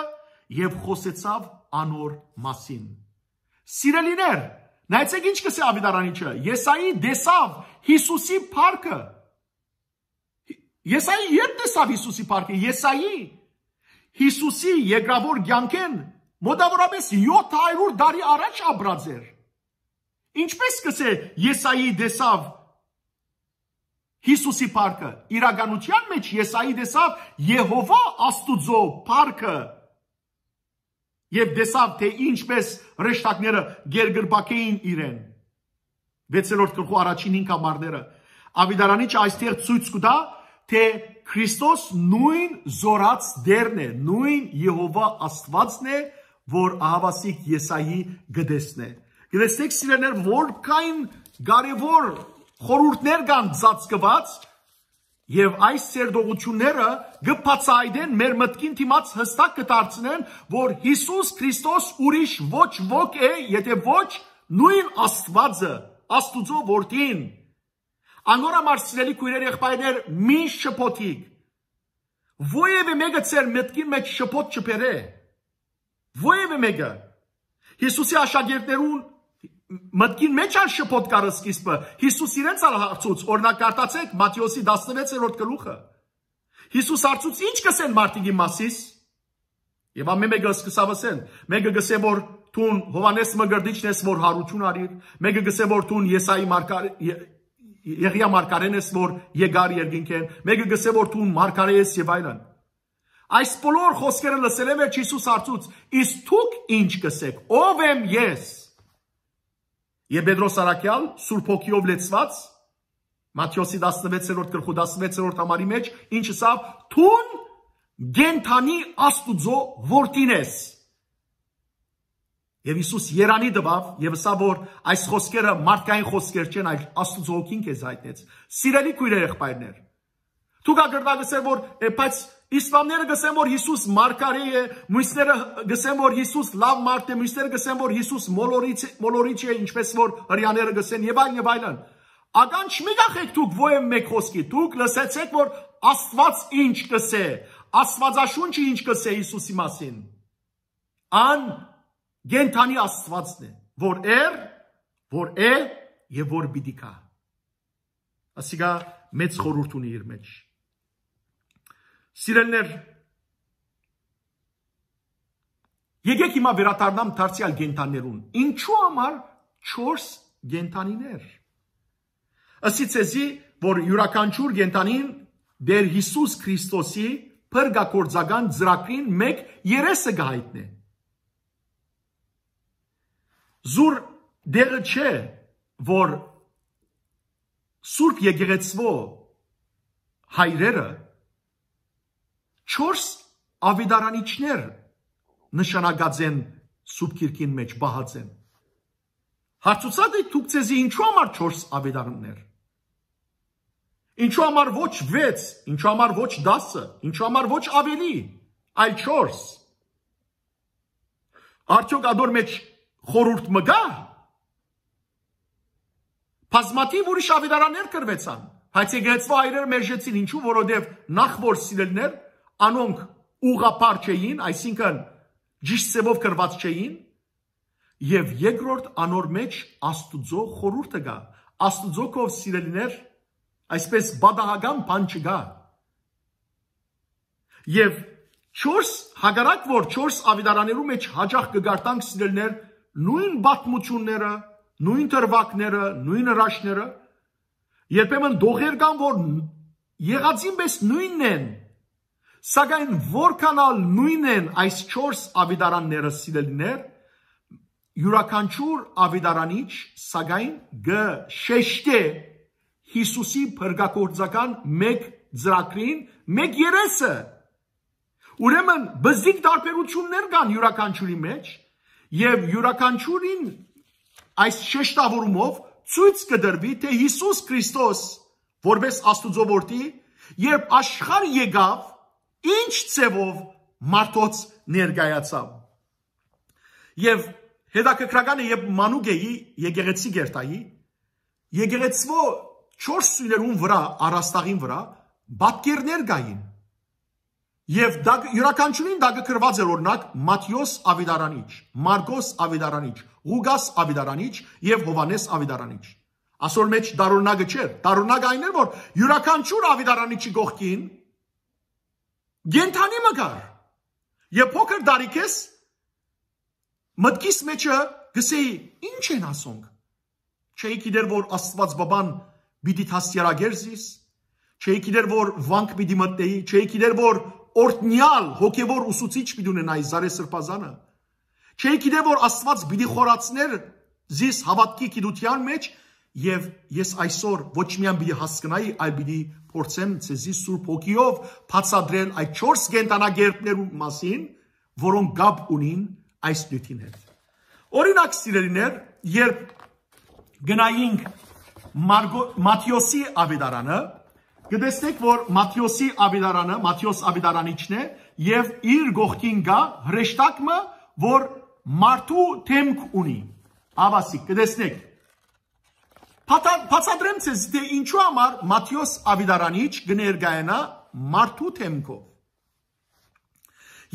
եւ խօսեցաւ անոր մասին։ Սիրելիներ, նայեցեք ինչ կ'ըսէ Աւետարանիչը. «Եսայի տեսաւ Յիսուսի փառքը»։ Եսայի ե՞րբ տեսաւ Յիսուսի փառքը։ Եսայի Յիսուսի երկրավոր կեանքէն մոտավորապես յոթ հարիւր տարի առաջ ապրած էր։ Ինչպէս կ'ըսէ, Եսայի տեսաւ Յիսուսի փառքը։ Իրականության մէջ Եսայի տեսաւ Եհովա Աստուծոյ փառքը։ եւ տեսաւ, թէ ինչպէս հրեշտակները կերկրպակէին իրեն։ Վեցերորդ գլխու առաջին հինգ համարները։ Աւետարանիչը այստեղ ցոյց կու տայ, թէ Քրիստոս նոյն զօրաց Տէրն է, նոյն Եհովա Աստուածն է, որ ահաւասիկ Եսայի կը տեսնէ։ Կը տեսնէք, սիրելիներ, որքան կարեւոր խորհուրդներ կան ծածկուած, եւ այս սերտողութիւնները կը բացայայտեն, մեր մտքին դիմաց յստակ կը դարձնեն, որ Յիսուս Քրիստոս ուրիշ ոչ ոք է, եթէ ոչ նոյն Աստուածը, Աստուծոյ Որդին։ Անոր համար, սիրելի քոյրեր, եղբայրներ, մի շփոթիք։ Որեւէ մէկը ձեր մտքին մէջ շփոթ չբերէ։ Որեւէ մէկը։ Յիսուսի աշակերտներուն մտքին մէջ ալ շփոթ կար սկիզբը։ Յիսուս իրենց ալ հարցուց, օրինակ, կարդացէք Մատթէոսի տասնվեցերորդ գլուխը։ Յիսուս հարցուց. «Ի՞նչ կ'ըսեն մարդիկ իմ մասիս»։ Եւ ամէն մէկը սկսաւ ըսեն. մէկը կ'ըսէ, որ դուն Յովհաննէս Մկրտիչն ես, որ յարութիւն առիր, մէկը կ'ըսէ, որ դուն Եսայի մարգար-, Ե-, Եղիա մարգարէն ես, որ եկար երկնքէն, մէկը կ'ըսէ, որ դուն մարգարէ ես, եւ այլն։ Այս բոլոր խօսքերը լսելէն վեր Յիսուս հարցուց. «Իսկ դուք ի՞նչ կ'ըսէք, ո՞վ եմ ես»։ Եւ Պետրոս առաքեալ, Սուրբ Հոգիով լեցուած, Մատթէոսի տասնվեցերորդ գլխու տասնվեցերորդ համարի մէջ, ինչ ըսաւ. «Դուն կենդանի Աստուծոյ Որդին ես»։ Եւ Յիսուս երանի տուաւ եւ ըսաւ, որ այս խօսքերը մարդկային խօսքեր չեն, այլ Աստուծոյ Հոգին քեզ յայտնեց։ Սիրելի քոյրեր, եղբայրներ, դուք ակրտակ ըսեն, որ, է, բայց իսլամները կ'ըսեն, որ Յիսուս մարգարէ է, մյուսները կ'ըսեն, որ Յիսուս լաւ մարդ է, մյուսները կ'ըսեն, որ Յիսուս մոլորիչ է, մոլորիչ է, ինչպես որ հրեաները կ'ըսեն, եւ այլն, եւ այլն։ Ականջ մի կախեք դուք ո-, մէկ խօսքի, դուք լսեցէք, որ Աստուած ինչ կ'ըսէ, Աստուածաշունչը ինչ կ'ըսէ Յիսուսի մասին։ Ան կենդանի Աստուածն է, որ էր, որ է եւ որ պիտի գայ։ Ասիկա մեծ խորհուրդ ունի իր մէջ։ Սիրելիներ, եկեք հիմա վերադառնամ դարձեալ կենդաններուն։ Ինչու համար չորս կենդանիներ։ Ըսի ձեզի, որ իւրաքանչիւր կենդանին Տէր Յիսուս Քրիստոսի փրկագործական ծրագրին մէկ երեսը կը յայտնէ։ Զուր դեղը չէ, որ Սուրբ Եկեղեցւոյ հայրերը չորս աւետարանիչներ նշանակած են Սուրբ Գիրքին մէջ, պահած են։ Հարցուցած եք դուք ձեզի, ինչու համար չորս աւետարաններ։ Ինչու համար ոչ վեց, ինչու համար ոչ տասը, ինչու համար ոչ ավելի, այլ չորս։ Արդյոք ադոր մէջ խորհուրդ մը կա՞։ Բազմաթիւ ուրիշ աւետարաններ կրուեցան, բայց եկեղեցւոյ հայրերը մերժեցին, ինչու, որովհետեւ նախ որ սիրելիներ, անոնք ուղղափառ չէին, այսինքն ճիշտ ձևով կրուած չէին, եւ երկրորդ անոր մէջ Աստուծոյ խորհուրդը կայ, Աստուծոյ քով սիրելիներ, այսպես պատահական բան չկայ։ Եւ չորս, հակառակ որ չորս աւետարաններու մէջ յաճախ կը կարդանք, սիրելիներ, նոյն պատմութիւնները, նոյն դրուագները, նոյն հրաշները, երբեմն տողեր կան, որ եղածին պէս նոյնն են, սակայն որքան ալ նոյնն են այս չորս աւետարանները, սիրելիներ, իւրաքանչիւր աւետարանիչ, սակայն կը շեշտէ Յիսուսի փրկագործական մէկ ծրագրին, մէկ երեսը։ Ուրեմն բզիկ տարբերութիւններ կան իւրաքանչիւրի մէջ, եւ իւրաքանչիւրին այս շեշտաւորումով ցոյց կը տրուի, թէ Յիսուս Քրիստոս, որպես Աստուծոյ Որդի, երբ աշխարհ եկաւ, ինչ ձևով մարդոց ներկայացաւ։ Եւ հետաքրքրական է, երբ մանուկ էի, եկեղեցի կ'երթայի, եկեղեցւոյ չորս սոյներուն վրա, առաստաղին վրա պատկերներ կային։ Եւ դա, իւրաքանչիւրին տակը գրուած էր, օրինակ, Մատթէոս աւետարանիչ, Մարկոս աւետարանիչ, Ղուկաս աւետարանիչ եւ Յովհաննէս աւետարանիչ։ Ասոր մէջ տարօրինակը չէր։ Տարօրինակը այն էր, որ իւրաքանչիւր աւետարանիչի կողքին կենդանի մը կար։ Եւ փոքր տարիքէս մտքիս մէջը գսեի. «Ի՞նչ են ասոնք»։ Չէի գիտեր, որ Աստուած Բաբան պիտի դաստիարակէր զիս, չէի գիտեր, որ վանք պիտի մտնէի, չէի գիտեր, որ օրհնեալ հոգեւոր ուսուցիչ պիտի ունենայի Զարե Սրբազանը, Չէի գիտեր որ Աստուած պիտի խորացներ զիս հաւատքի գիտութեան մէջ, եւ ես այսօր ոչ միայն պիտի հասկնայի, այլ պիտի փորձեմ ձեզի Սուրբ Հոգիով բացատրել այդ չորս կենդանակերպներու մասին, որոնք կապ ունին այս նիւթին հետ։ Օրինակ, սիրելիներ, երբ գնայինք Մարգո-, Մատթէոսի աւետարանը, կտեսնենք որ Մատթէոսի աւետարանը, Մատթէոս աւետարանիչն է, եւ իր կողքին կայ հրեշտակ մը, որ մարդու դէմք ունի։ Ահա ասիկա, կտեսնենք։ Բացա-, բացատրեմ ձեզ, թէ ինչու համար Մատթէոս աւետարանիչ կը ներկայանայ մարդու դէմքով։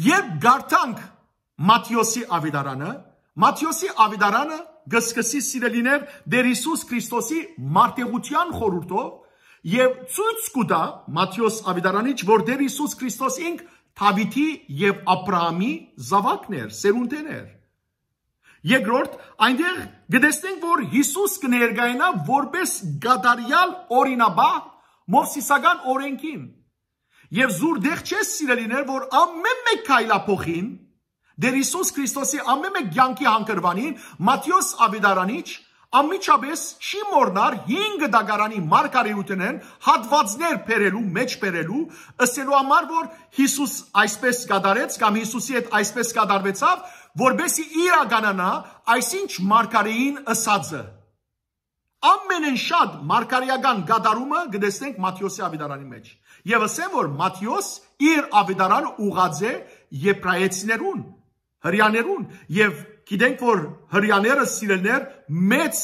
Երբ կարդանք Մատթէոսի աւետարանը, Մատթէոսի աւետարանը կը սկսի, սիրելիներ, Տէր Յիսուս Քրիստոսի մարտեղութեան խորհուրդով եւ ցոյց կու տայ Մատթէոս աւետարանիչ, որ Տէր Յիսուս Քրիստոս ինք Դաւիթի եւ Աբրահամի զաւակն էր, սերունդէն էր։ Երկրորդ, այնտեղ կտեսնենք որ Յիսուս կը ներկայանայ որպէս կատարեալ օրինապահ Մովսիսական օրէնքին։ Եւ զուր դեղ չէ, սիրելիներ, որ ամէն մէկ քայլափոխին, Տէր Յիսուս Քրիստոսի ամէն մէկ կեանքի հանգրուանին Մատթէոս աւետարանիչ անմիջապէս չի մոռնար հինգ դագարանի մարգարէութենէն հատուածներ բերելու, մէջ բերելու, ըսելու համար որ Յիսուս այսպէս կատարեց կամ Յիսուսի հետ այսպէս կատարուեցաւ, որպէսզի իրականանայ այսինչ մարգարէին ըսածը։ Ամենէն շատ մարգարէական կատարումը կտեսնենք Մատթէոսի աւետարանի մէջ։ Եւ ըսեմ որ Մատթէոս իր աւետարանը ուղղած է Եբրայեցիներուն, Հրեաներուն, եւ գիտենք որ Հրեաները, սիրելիներ, մեծ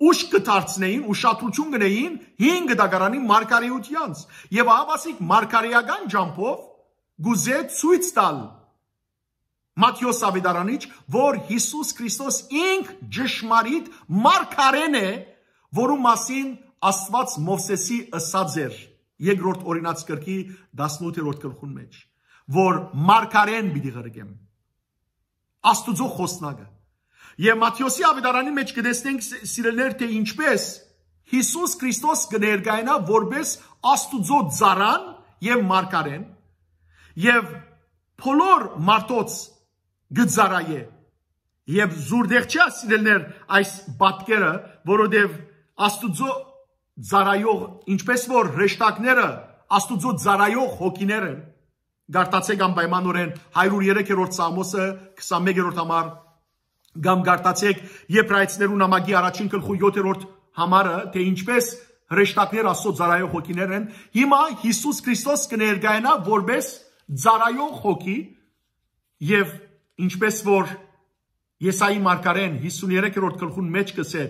ուշ կը դարձնէին, ուշադրութիւն կ'ընէին հինգ դագարանի մարգարէութեանց։ Եւ ահա ասիկա մարգարէական ճամբով կ'ուզէ ցոյց տալ Մատթէոս աւետարանիչ, որ Յիսուս Քրիստոս ինք ճշմարիտ մարգարէն է, որու մասին Աստուած Մովսէսի ըսած էր երկրորդ օրինաց գրքի տասնութերորդ գլխուն մէջ, որ մարգարէն պիտի ղրկեմ, Աստուծոյ խօսնակը։ Եւ Մատթէոսի աւետարանի մէջ կտեսնենք, ս-, սիրելիներ, թէ ինչպէս Յիսուս Քրիստոս կը ներկայանայ որպէս Աստուծոյ ծառան եւ մարգարէն, եւ բոլոր մարդոց կը ծառայէ։ Եւ զուր դեղ չէ, սիրելիներ, այս պատկերը, որովհետեւ Աստուծոյ ծառայող, ինչպէս որ հրեշտակները Աստուծոյ ծառայող հոգիներ են, կարդացէք անպայմանօրէն հարիւր երեքերորդ Սաղմոսը, քսանմէկերորդ համար, կամ կարդացէք Եբրայեցիներու նամակի առաջին գլխու յոթերորդ համարը, թէ ինչպէս հրեշտակները Աստուծոյ ծառայող հոգիներ են, հիմա Յիսուս Քրիստոս կը ներկայանայ որպէս ծառայող հոգի, եւ ինչպէս որ Եսայի մարգարէն հիսուն երեքերորդ գլխուն մէջ կ'ըսէ,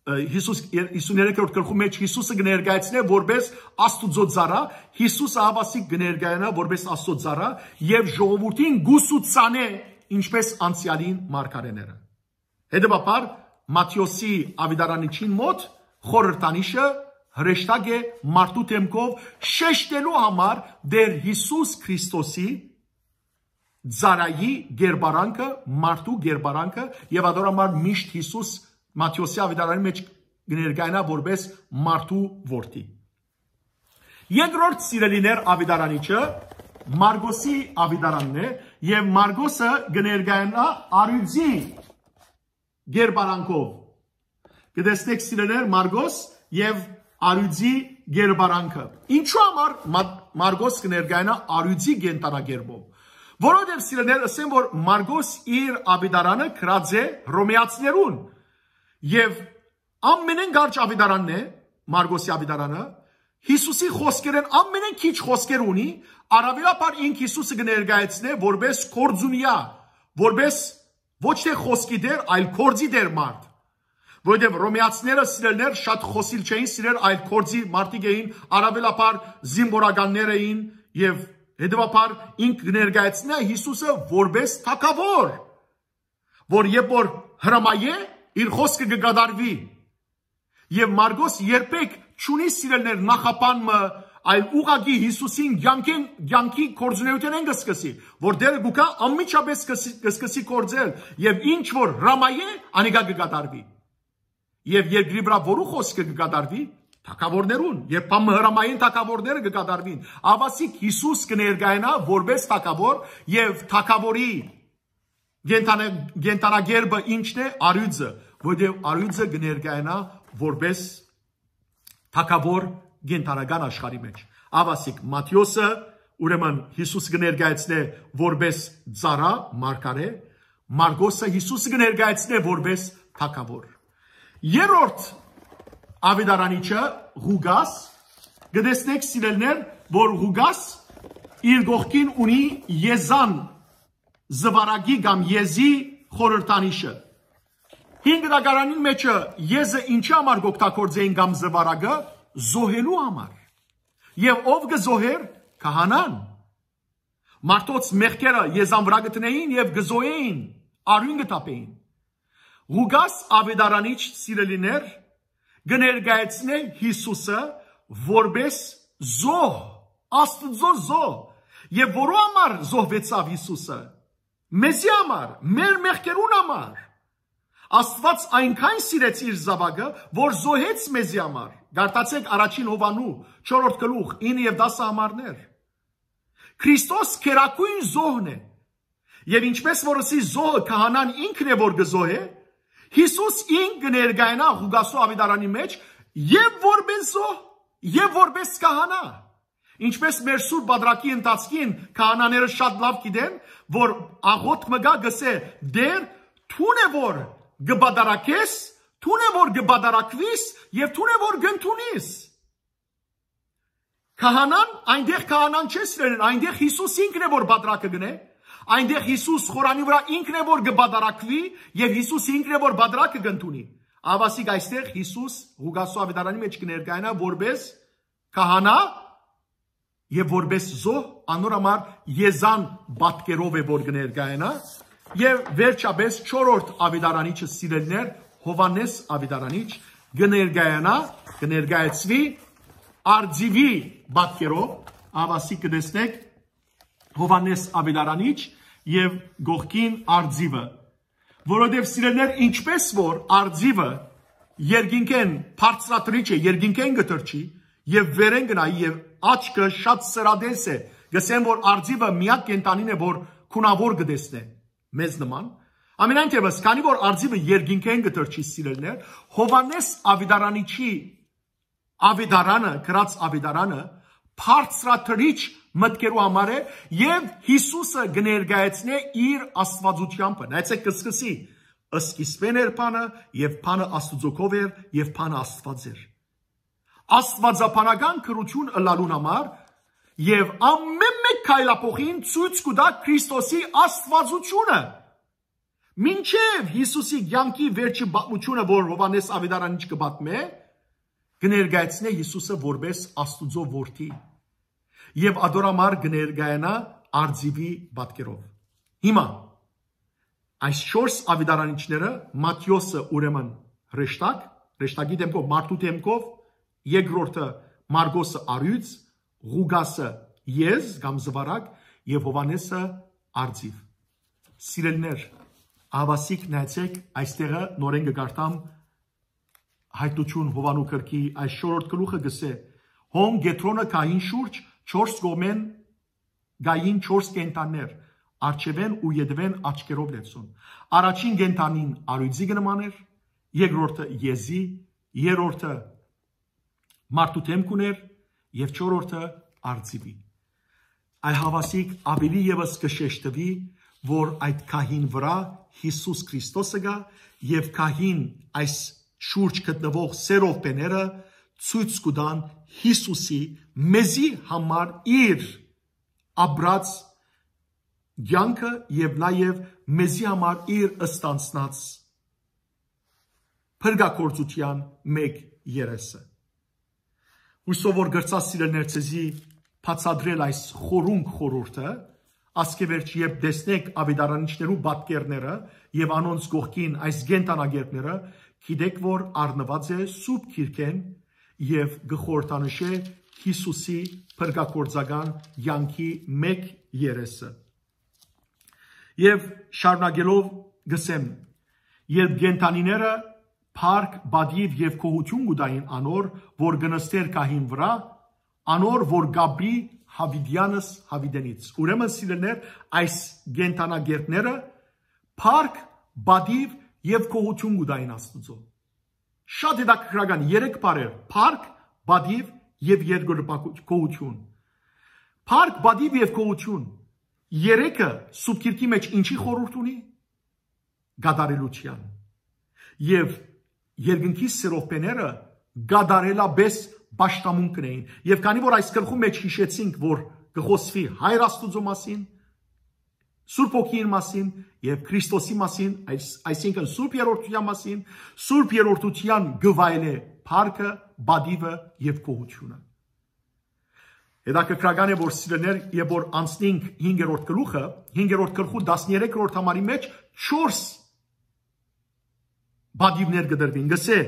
ը, Յիսուս, յիսուն երեքերորդ գլխու մէջ Յիսուսը կը ներկայացնէ որպէս Աստուծոյ ծառայ, Յիսուս ահա ասիկա կը ներկայանայ որպէս Աստուծոյ ծառայ եւ ժողովուրդին կ'ուսուցանէ, ինչպէս անցեալին մարգարէները։ Հետեւաբար, Մատթէոսի աւետարանիչին մօտ խորհրդանիշը հրեշտակ է մարդու դէմքով շեշտելու համար Տէր Յիսուս Քրիստոսի ծառայի կերպարանքը, մարդու կերպարանքը, եւ ադոր համար միշտ Յիսուս Մատթէոսի աւետարանի մէջ կը ներկայանայ որպէս մարդու որդի։ Երկրորդ, սիրելիներ, աւետարանիչը Մարգոսի աւետարանն է, եւ Մարգոսը կը ներկայանայ առիւծի կերպարանքով։ Կտեսնեք, սիրելիներ, Մարգոս եւ առիւծի կերպարանքը։ Ինչու համար Մա-, Մարգոս կը ներկայանայ առիւծի կենդանակերպով։ Որովհետեւ, սիրելիներ, ըսեմ որ Մարգոս իր աւետարանը գրած է հռոմեացիներուն, եւ ամենէն կարճ աւետարանն է Մարգոսի աւետարանը, Յիսուսի խօսքերէն ամենէն քիչ խօսքեր ունի, առաւելաբար ինք Յիսուսը կը ներկայացնէ որպէս գործունեայ, որպէս ոչ թէ խօսքի տէր, այլ գործի տէր մարդ։ Որովհետեւ հռոմեացիները, սիրելիներ, շատ խօսիլ չէին սիրեր, այլ գործի մարդիկ էին, առաւելաբար զինվորականներ էին, եւ հետեւաբար ինք կը ներկայացնէ Յիսուսը որպէս թագաւոր, որ երբ որ հրամայէ, իր խօսքը կը կատարուի։ Եւ Մարգոս երբեք չունի, սիրելիներ, նախապան մը, այլ ուղղակի Յիսուսին կեանքեն, կեանքի գործունեութենէն կը սկսի, որ Տէրը կու գայ անմիջապէս կը սկսի, կը սկսի գործել, եւ ինչ որ հրամայէ, անիկա կը կատարուի։ Եւ երկրի վրայ որու խօսքը կը կատարուի, թագաւորներուն, երբ բան մը հրամայեն, թագաւորները կը կատարուին։ Ահա ասիկա Յիսուս կը ներկայանայ որպէս թագաւոր, եւ թագաւորի Կենդանա-, կենդանագերբը ի՞նչն է, առիւծը, որտեղ առիւծը կը ներկայանայ որպէս թագաւոր կենդանական աշխարհի մէջ։ Աղուասիկ Մատթէոսը, ուրեմն Յիսուս կը ներկայացնէ որպէս ծառայ, մարգարէ, Մարկոսը Յիսուս կը ներկայացնէ որպէս թագաւոր։ Երրորդ աւետարանիչը՝ Ղուկաս, կը տեսնէք, սիրելիներ, որ Ղուկաս իր կողքին ունի եզան զուարակի կամ եզի խորհրդանիշը։ Հին Գտակարանին մէջը եզը ինչի համար կօգտագործէին կամ զուարակը՝ զոհելու համար։ Եւ ով կը զոհէր, քահանան։ Մարդոց մեղքերը եզան վրայ կը դնէին եւ կը զոհէին, արիւն կը թափէին։ Ղուկաս աւետարանիչ, սիրելիներ, կը ներկայացնէ Յիսուսը որպէս զոհ, Աստուծոյ զոհ։ Եւ որու համար զոհուեցաւ Յիսուսը։ Մեզի համար, մեր մեղքերուն համար։ Աստուած այնքան սիրեց իր զաւակը, որ զոհեց մեզի համար։ Կարդացէք առաջին Յովհաննու չորրորդ գլուխ, ինը եւ տասը համարներ։ Քրիստոս գերագոյն զոհն է։ Եւ ինչպէս որ ըսի, զոհը քահանան ինքն է, որ կը զոհէ, Յիսուս ինք կը ներկայանայ Ղուկասու աւետարանի մէջ եւ որպէս զոհ, եւ որպէս քահանա։ Ինչպէս մեր սուր պատրակի ընթացքին քահանաները շատ լաւ գիտեն, որ աղօթք մը կայ, կ'ըսէ. «Տէր, դուն է որ կը պատառակես, դուն է որ կը պատառակուիս եւ դուն է որ կ'ընդունիս»։ Քահանան, այնտեղ քահանան չէ, սիրելին, այնտեղ Յիսուս ինքն է որ պատրակը կ'ընէ, այնտեղ Յիսուս խորանի վրայ ինքն է որ կը պատառակուի եւ Յիսուս ինքն է որ պատրակը կ'ընդունի։ Աղուասիկ այստեղ Յիսուս Ղուկասու աւետարանի մէջ կը ներկայանայ որպէս քահանա եւ որպէս զոհ, անոր համար եզան պատկերով է որ կը ներկայանայ, եւ վերջապէս չորրորդ աւետարանիչը, սիրելիներ, Յովհաննէս աւետարանիչ կը ներկայանայ, կը ներկայացուի արծիւի պատկերով, աղուասիկ կը տեսնէք Յովհաննէս աւետարանիչ եւ կողքին արծիւը, որովհետեւ, սիրելիներ, ինչպէս որ արծիւը երկինքէն բարձրատրիչ է, երկինքէն կը թռչի եւ վերէն կը նայի եւ աչքը շատ սրատես է, կ'ըսեն որ արծիւը միակ կենդանին է որ քունաւոր կը տեսնէ մեզ նման։ Ամենայն դեպս, քանի որ արծիւը երկինքէն կը թռչի, սիրելիներ, Յովհաննէս աւետարանիչի աւետարանը, գրած աւետարանը, բարձրատրիչ մտքերու համար է եւ Յիսուսը կը ներկայացնէ իր աստուածութեամբը։ Նայեցէք, կը սկսի. «Սկիզբէն էր բանը, եւ բանը Աստուծոյ քով էր, եւ բանը Աստուած էր»։ Աստուածաբանական գրութիւն ըլլալուն համար եւ ամէն մէկ քայլափոխին ցոյց կու տայ Քրիստոսի աստուածութիւնը։ Մինչեւ Յիսուսի կեանքի վերջի պատմութիւնը, որ Յովհաննէս աւետարանիչ կը պատմէ, կը ներկայացնէ Յիսուսը որպէս Աստուծոյ որդի եւ ատոր համար կը ներկայանայ արծիւի պատկերով։ Հիմա այս չորս աւետարանիչները, Մատթէոսը ուրեմն հրեշտակ, հրեշտակի դէմքով, մարդու դէմքով, երկրորդը Մարկոսը՝ առիւծ, Ղուկասը՝ եզ կամ զուարակ, եւ Յովհաննէսը՝ արծիւ։ Սիրելիներ, աղուասիկ նայեցէք, այստեղը նորէն կը կարդամ Հայտնութիւն Յովհաննու գրքի այս չորրորդ գլուխը, կ'ըսէ. «Հոն Կեդրոնը գահին շուրջ չորս կողմէն կային չորս կենդաններ, առջեւէն ու ետեւէն աչքերով լեցուն։ Առաջին կենդանին առիւծի կը նման էր, երկրորդը՝ եզի, երրորդը՝ մարդու դէմք ունէր եւ չորրորդը՝ արծիւի»։ Այ աղուասիկ աւելի եւս կը շեշտուի, որ այդ գահին վրայ Յիսուս Քրիստոսը կայ եւ գահին այս շուրջ գտնուող սերովբեները ցոյց կու տան Յիսուսի մեզի համար իր ապրած կեանքը եւ նաեւ մեզի համար իր ստանձնած փրկագործութեան մէկ երեսը։ Հուսով որ կրցաս, սիրելիներ, ձեզի բացատրել այս խորունկ խորհուրդը, ասկէ վերջ, երբ տեսնեք աւետարանիչներու պատկերները եւ անոնց կողքին այս կենդանագերբները, գիտեք որ առնուած է Սուրբ Գիրքէն եւ կը խորհրդանշէ Յիսուսի փրկագործական կեանքի մէկ երեսը։ Եւ շարունակելով կ'ըսեմ. «Երբ կենդանիները փառք, պատիւ եւ գոհութիւն կու տային անոր, որ կը նստէր գահին վրայ, անոր, որ կ'ապրի յաւիտեանս յաւիտենից»։ Ուրեմն, սիրելիներ, այս կենդանագերբները փառք, պատիւ եւ գոհություն կու տային Աստուծոյ։ Շատ հետաքրքրական երեք բառեր. փառք, պատիւ եւ երկրպագու-, գոհություն։ Փառք, պատիվ եւ գոհություն։ Երեքը Սուրբ Գիրքի մէջ ինչի խորհուրդ ունի? Կատարելութեան։ Եւ երկնքի սերովբեները կատարելապէս պաշտամունք կ'ընէին։ Եւ քանի որ այս գլխու մէջ յիշեցինք, որ կը խօսուի Հայր Աստուծոյ մասին, Սուրբ Հոգին մասին եւ Քրիստոսի մասին, այս, այսինքն Սուրբ Երրորդութեան մասին, Սուրբ Երրորդութեան կը վայելէ փառքը, պատիվը եւ գոհությունը։ Հետաքրքրական է, որ սիրելիներ, եւ որ անցնենք հինգերորդ գլուխը, հինգերորդ գլխու տասներեքրորդ համարի մէջ չորս պատիվներ կը տրուին, կ'ըսէ.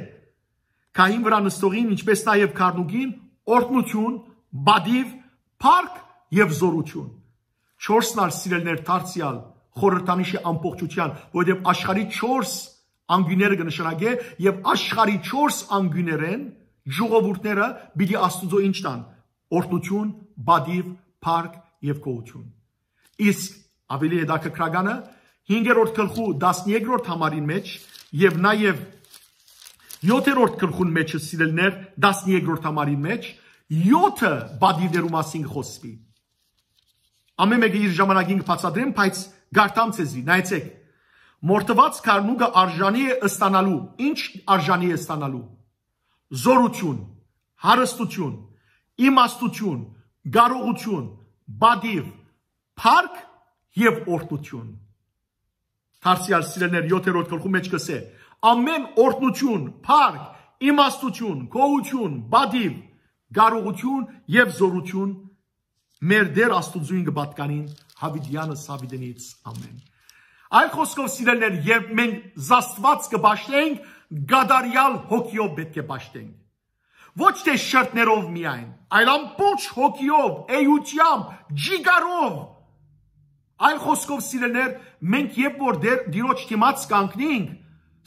«Քահին վրայ նստողին, ինչպէս նաեւ գառնուկին, օրհնութիւն, պատիվ, փառք եւ զօրութիւն»։ Չորսն ալ, սիրելիներ, դարձեալ խորհրդանիշ է ամբողջութեան, որովհետեւ աշխարհի չորս անկիւնները կը նշանակէ, եւ աշխարհի չորս անկիւներէն ժողովուրդները պիտի Աստուծոյ ինչ տան. օրհնութիւն, պատիվ, փառք եւ գոհություն։ Իսկ ավելի հետաքրքրականը, հինգերորդ գլխու տասներեքրորդ համարին մէջ եւ նաեւ յոթերորդ գլխուն մէջը, սիրելիներ, տասներեքրորդ համարին մէջ յոթը պատիվներու մասին կը խօսուի։ Ամէն մէկը իր ժամանակին կը բացատրեմ, բայց կարդամ ձեզի, նայեցէք։ Մորթուած գառնուկը արժանի է ստանալու։ Ինչ արժանի է ստանալու? Զօրութիւն, հարստութիւն, իմաստութիւն, կարողութիւն, պատիվ, փառք եւ օրհնութիւն։ Դարձեալ, սիրելիներ, յոթերորդ գլխու մէջ կ'ըսէ. «Ամէն օրհնութիւն, փառք, իմաստութիւն, գոհութիւն, պատիվ, կարողութիւն եւ զօրութիւն մեր Տէր Աստուծոյն կը պատկանին Յաւիտեանս Յաւիտենից։ Ամէն»։ Այլ խօսքով, սիրելիներ, երբ մենք Աստուած կը պաշտենք, կատարեալ հոգիով պէտք է պաշտենք։ Ոչ թէ շրթներով միայն, այլ ամբողջ հոգիով, էութեամբ, ջիգարով։ Այլ խօսքով, սիրելիներ, մենք երբ որ Տէր, Տիրոջ դիմաց կանգնենք,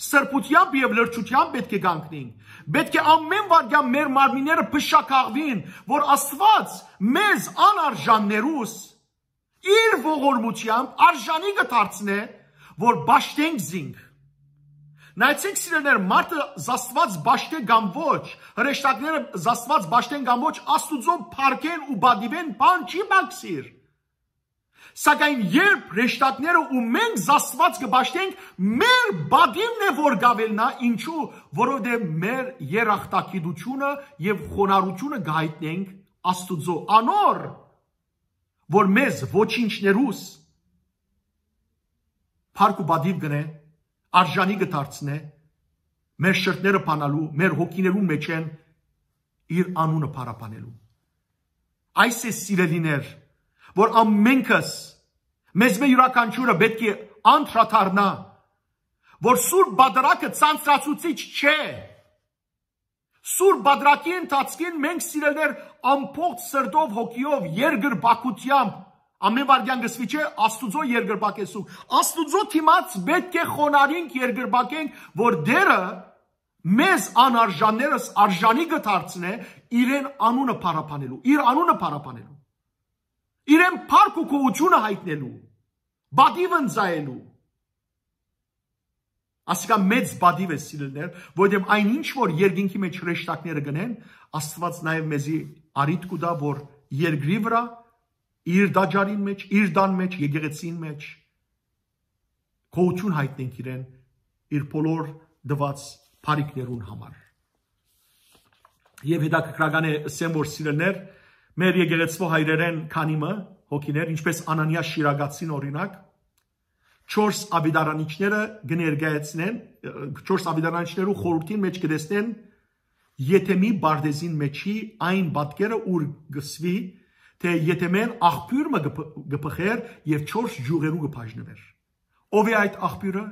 սրբութեամբ եւ լրջութեամբ պէտք է կանգնենք։ Պէտք է ամէն վայրկեան մեր մարմինները փշաքաղուին, որ Աստուած մեզ անարժաններուս իր ողորմութեամբ արժանի կը դարձնէ, որ պաշտենք զինք։ Նայեցէք, սիրելիներ, մարդը Աստուած պաշտէ կամ ոչ, հրեշտակները Աստուած պաշտեն կամ ոչ, Աստուծոյ փառքէն ու պատիվէն բան չի պակսիր։ Սակայն երբ հրեշտակները ու մենք Աստուած կը պաշտենք, մեր պատիվն է, որ կ'աւելնայ, ինչու, որովհետեւ մեր երախտագիտությունը եւ խոնարհությունը կը յայտնենք Աստուծոյ, անոր, որ մեզ ոչինչներուս փառք ու պատիվ կ'ընէ, արժանի կը դարձնէ, մեր շրթները բանալու, մեր հոգիներուն մէջէն իր անունը փառաբանելու։ Այս է, սիրելիներ, որ ամենքս, մեզմէ յուրաքանչիւրը պէտք է անդրադառնայ, որ Սուրբ Պատարագը ցանցրացուցիչ չէ։ Սուրբ Պատարագի ընթացքին մենք, սիրելիներ, ամբողջ սրտով, հոգիով, երկրպագությամբ, ամէն վայրկեան կ'ըսուի, չէ, Աստուծոյ երկրպագ ես դու, Աստուծոյ դիմաց պէտք է խոնարհենք, երկրպագենք, որ Տէրը մեզ անարժաններս արժանի կը դարձնէ իրեն անունը փառաբանելու, իր անունը փառաբանելու, իրեն փառք ու գոհությունը յայտնելու, պատիվ ընծայելու։ Ասիկա մեծ պատիվ է, սիրելիներ, որովհետեւ այն ինչ որ երկինքի մեջ հրեշտակները կ'ընեն, Աստուած նաեւ մեզի առիթ կու տայ, որ երկրի վրայ, իր տաճարին մէջ, իր տան մէջ, եկեղեցին մէջ գոհություն յայտնենք իրեն, իր բոլոր տուած բարիքներուն համար։ Եւ հետաքրքրական է, ըսեմ, որ, սիրելիներ, մեր եկեղեցւոյ հայրերէն քանի մը հոգիներ, ինչպէս Անանիա Շիրակացին օրինակ, չորս աւետարանիչները կը ներկայացնեն, չորս աւետարանիչներու խորհրդին մէջ կը տեսնեն Եթեմի պարտէզին մէջի այն պատկերը, ուր կ'ըսուի, թէ Եթեմէն աղբիւր մը կը փ-, կը բխէր եւ չորս ճիւղերու կը բաժնուէր։ Ո՞վ է այդ աղբիւրը,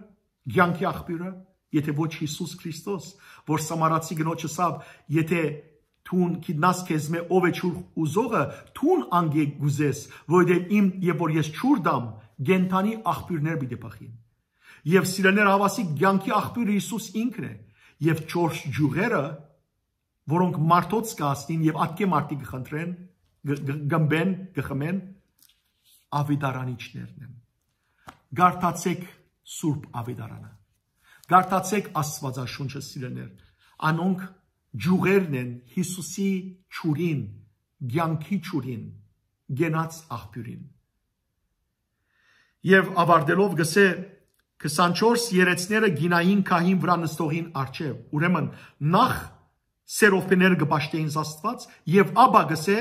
կեանքի աղբիւրը, եթէ ոչ Յիսուս Քրիստոս, որ սամարացի կնոջ ըսաւ. «Եթէ դուն գիտնաս քեզմէ ով է ջուր ուզողը, դուն անկէ կ'ուզես, որովհետեւ իմ, երբ որ ես ջուր տամ, կենդանի աղբիւրներ պիտի բխին»։ Եւ, սիրելիներ, հաւասիկ կեանքի աղբիւրը Յիսուս ինքն է, եւ չորս ճիւղերը, որոնք մարդոց կը հասնին եւ ատկէ մարդիկ կը խնդրեն, կը, կը, կ'ըմպեն, կը խմեն, աւետարանիչներն են։ Կարդացէք Սուրբ Աւետարանը։ Կարդացէք Աստուածաշունչը, սիրելիներ։ Անոնք ջուղերն են Յիսուսի ջուրին, կեանքի ջուրին, կենաց աղբիւրին։ Եւ աւարտելով գսէ. «քսանչորս երեցները գինային քահին վրայ նստողին առջեւ»։ Ուրեմն, նախ սերովբիները կը պաշտէին Աստուած, եւ ապա գսէ.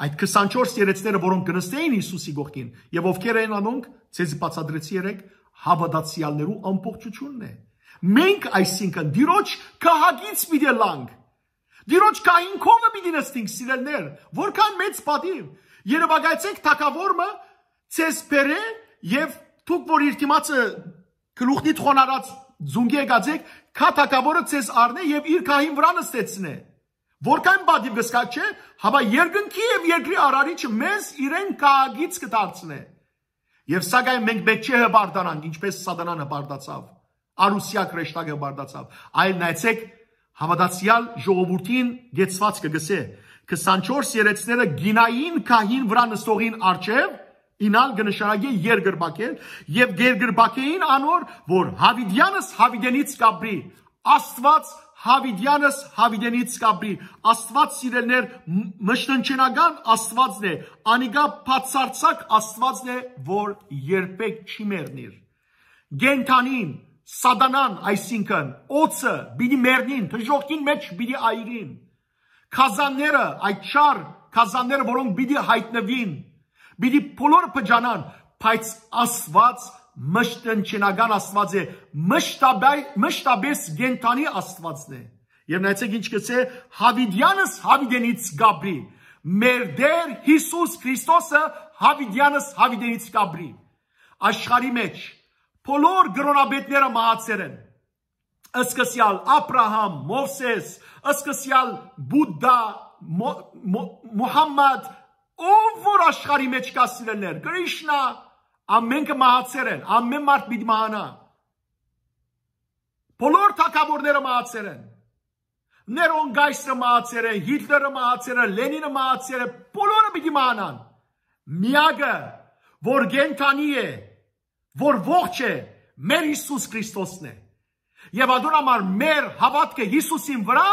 «Այդ քսանչորս երեցները, որոնք կը նստէին Յիսուսի կողքին, եւ ովքեր են անոնք, ձեզի բացատրեցի երեկ, հաւատացեալներու ամբողջութիւնն է»։ Մենք, այսինքն, Տիրոջ քահակից պիտի ըլլանք, Տիրոջ քահին քովը պիտի նստինք, սիրելիներ, որքան մեծ պատիւ։ Երեւակայեցէք թագաւոր մը ձեզ բերէ, եւ դուք, որ իր դիմացը գլուխնիդ խոնարած զունգի եկած եք, քա թագաւորը ձեզ առնէ եւ իր քահին վրայ նստեցնէ։ Որքան պատիւ կը զգաք, չէ՞, հապա երկնքի եւ երկրի արարիչը մեզ իրեն քահակից կը դարձնէ։ Եւ սակայն մենք մէկ չէ հպարտանանք, ինչպես Սատանան հպարտացաւ, արուսեակ հրեշտակը հպարտացաւ, այլ նայեցէք, հաւատացեալ ժողովուրդին կեցուածքը գսէ. «քսանչորս երեցները գինային քահին վրայ նստողին առջեւ», ինալ կը նշանակէ երկրպագել, «եւ երկրպագեին անոր, որ հաւիտեանս հաւիտենից կապրի»։ Աստուած հաւիտեանս հաւիտենից կապրի։ Աստուած, սիրելիներ, մ-, մշտնջենական Աստուածն է, անիկա բացարձակ Աստուածն է, որ երբեք չի մեռնիր։ Կենդանին, Սատանան, այսինքն, օծը պիտի մեռնին, դժոխքին մէջ պիտի այրին։ Գազանները, այդ չար գազանները, որոնք պիտի յայտնուին, պիտի բոլորը փճանան, բայց Աստուած մշտնջենական Աստուած է, մշտաբայ-, մշտապես կենդանի Աստուածն է։ Եւ նայեցեք ինչ գսէ. «Հաւիտեանս հաւիտենից կապրի»։ Մեր Տեր Յիսուս Քրիստոսը հաւիտեանս հաւիտենից կապրի։ Աշխարհի մէջ բոլոր կրոնապետները մահացեր են։ Սկսեալ Աբրահամ, Մովսես, սկսեալ Բուդդա, Մո-, Մո-, Մուհամմադ, ով որ աշխարհի մէջ կայ, սիրելիներ, Կրիշնա, ամենքը մահացեր են, ամեն մարդ պիտի մահանայ։ Բոլոր թագաւորները մահացեր են։ Ներոն կայսրը մահացեր է, Հիտլերը մահացեր է, Լենինը մահացեր է, բոլորը պիտի մահանան։ Միակը, որ կենդանի է, որ ողջ է, մեր Յիսուս Քրիստոսն է։ Եւ ադոր համար մեր հաւատքը Յիսուսին վրայ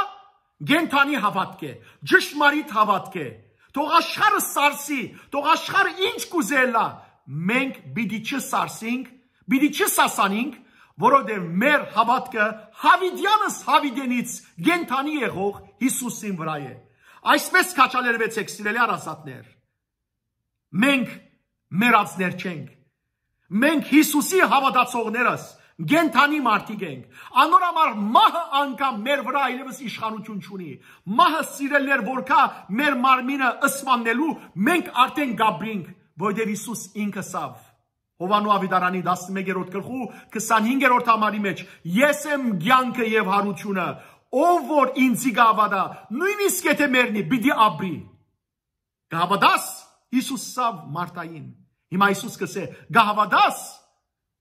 կենդանի հաւատք է, ճշմարիտ հաւատք է։ Թող աշխարհը սարսի, թող աշխարհը ինչ կ'ուզէ ըլլայ, մենք պիտի չսարսինք, պիտի չսասանինք, որովհետեւ մեր հաւատքը հաւիտեանս հաւիտենից կենդանի եղող Յիսուսին վրայ է։ Այսպես քաջալերուեցեք, սիրելի հարազատներ։ Մենք մեռածներ չենք։ Մենք Յիսուսի հաւատացողներս կենդանի մարդիկ ենք։ Անոր համար մահը անգամ մեր վրայ այլեւս իշխանութիւն չունի։ Մահը, սիրելիներ, որ կայ մեր մարմինը սպաննելու, մենք արդեն կապրինք, որովհետեւ Յիսուս ինքը ասաւ Յովհաննու Աւետարանի տասնմեկերորդ գլխու քսանհինգերորդ համարի մէջ. «Ես եմ կեանքը եւ յարութիւնը, ով որ ինձի կը հաւատայ, նոյնիսկ եթէ մեռնի, պիտի ապրի»։ Կը հաւատա՞ս, Յիսուս ըսաւ Մարթային։ Հիմա Յիսուս կ'ըսէ. «Կը հաւատա՞ս,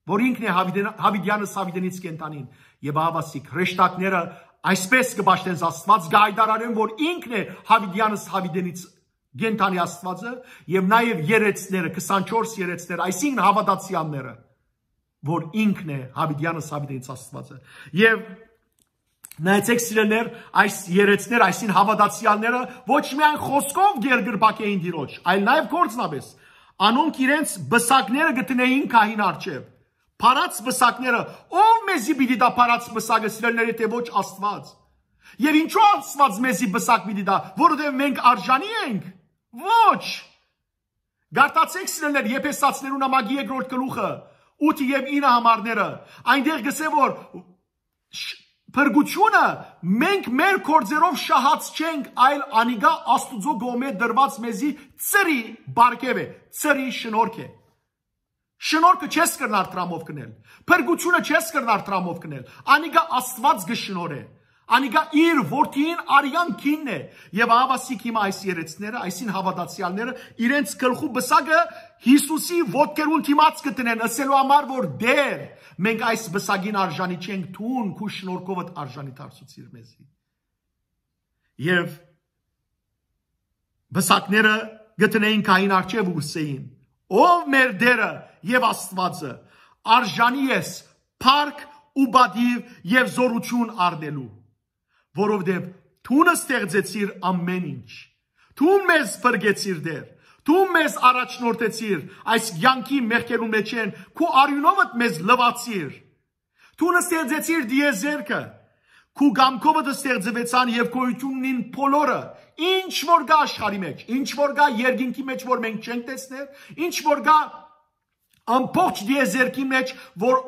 որ ինքն է հաւիտեն-, հաւիտեանս հաւիտենից կենդանին»։ Եւ ահա ասիկ, հրեշտակները այսպես կը պաշտեն Աստուած, կը հայտարարեն, որ ինքն է հաւիտեանս հաւիտենից կենդանի Աստուածը, եւ նաեւ երեցները, քսանչորս երեցները, այսինքն հաւատացեալները, որ ինքն է հաւիտեանս հաւիտենից Աստուածը։ Եւ նայեցեք, սիրելիներ, այս երեցները, այսին հաւատացեալները ոչ միայն խօսքով կ'երկրպագէին Տիրոջ, այլ նաեւ գործնապէս։ Անոնք իրենց պսակները կը դնէին քահին առջեւ։ Փարած պսակները, ո՞վ մեզի պիտի տայ փարած պսակը, սիրելիներ, եթէ ոչ Աստուած։ Եւ ինչո՞ւ Աստուած մեզի պսակ պիտի տայ, որովհետեւ մենք արժանի ենք։ Ոչ։ Կարդացեք, սիրելիներ, Եփեսացիներուն նամակի երկրորդ գլուխը, ութը եւ ինը համարները։ Այնտեղ գսէ, որ շ-, փրկությունը մենք մեր գործերով շահած չենք, այլ անիկա Աստուծոյ կողմէ տրուած մեզի ծրի պարգեւ է, ծրի շնորհք է։ Շնորհքը չես կրնար դրամով գնել, փրկությունը չես կրնար դրամով գնել, անիկա Աստուած կը շնորհէ, անիկա իր որդին արեան գինն է, եւ ահա ասիկ հիմա այս երեցները, այսին հաւատացեալները իրենց գլխու պսակը Յիսուսի ոտքերուն դիմաց կը դնեն, ըսելու համար, որ Տէր, մենք այս պսակին արժանի չենք, դուն քու շնորհքովդ արժանի դարձուցիր մեզի։ Եւ պսակները կը դնէին քահին առջեւ ու կ'ըսէին. «Ով մեր Տէրը եւ Աստուածը, արժանի ես փառք ու պատիւ եւ զօրութիւն առնելու, որովհետեւ դուն ստեղծեցիր ամէն ինչ։ Դուն մեզ փրկեցիր, Տէր, դուն մեզ առաջնորդեցիր այս կեանքի մեղքերուն մէջէն, քու արիւնովդ մեզ լուացիր։ Դուն ստեղծեցիր տիեզերքը, քու կամքովդ ստեղծուեցան եւ գոյութիւն ունին բոլորը, ինչ որ կայ աշխարհի մէջ, ինչ որ կայ երկինքի մէջ, որ մենք չենք տեսներ, ինչ որ կայ ամբողջ տիեզերքի մէջ, որ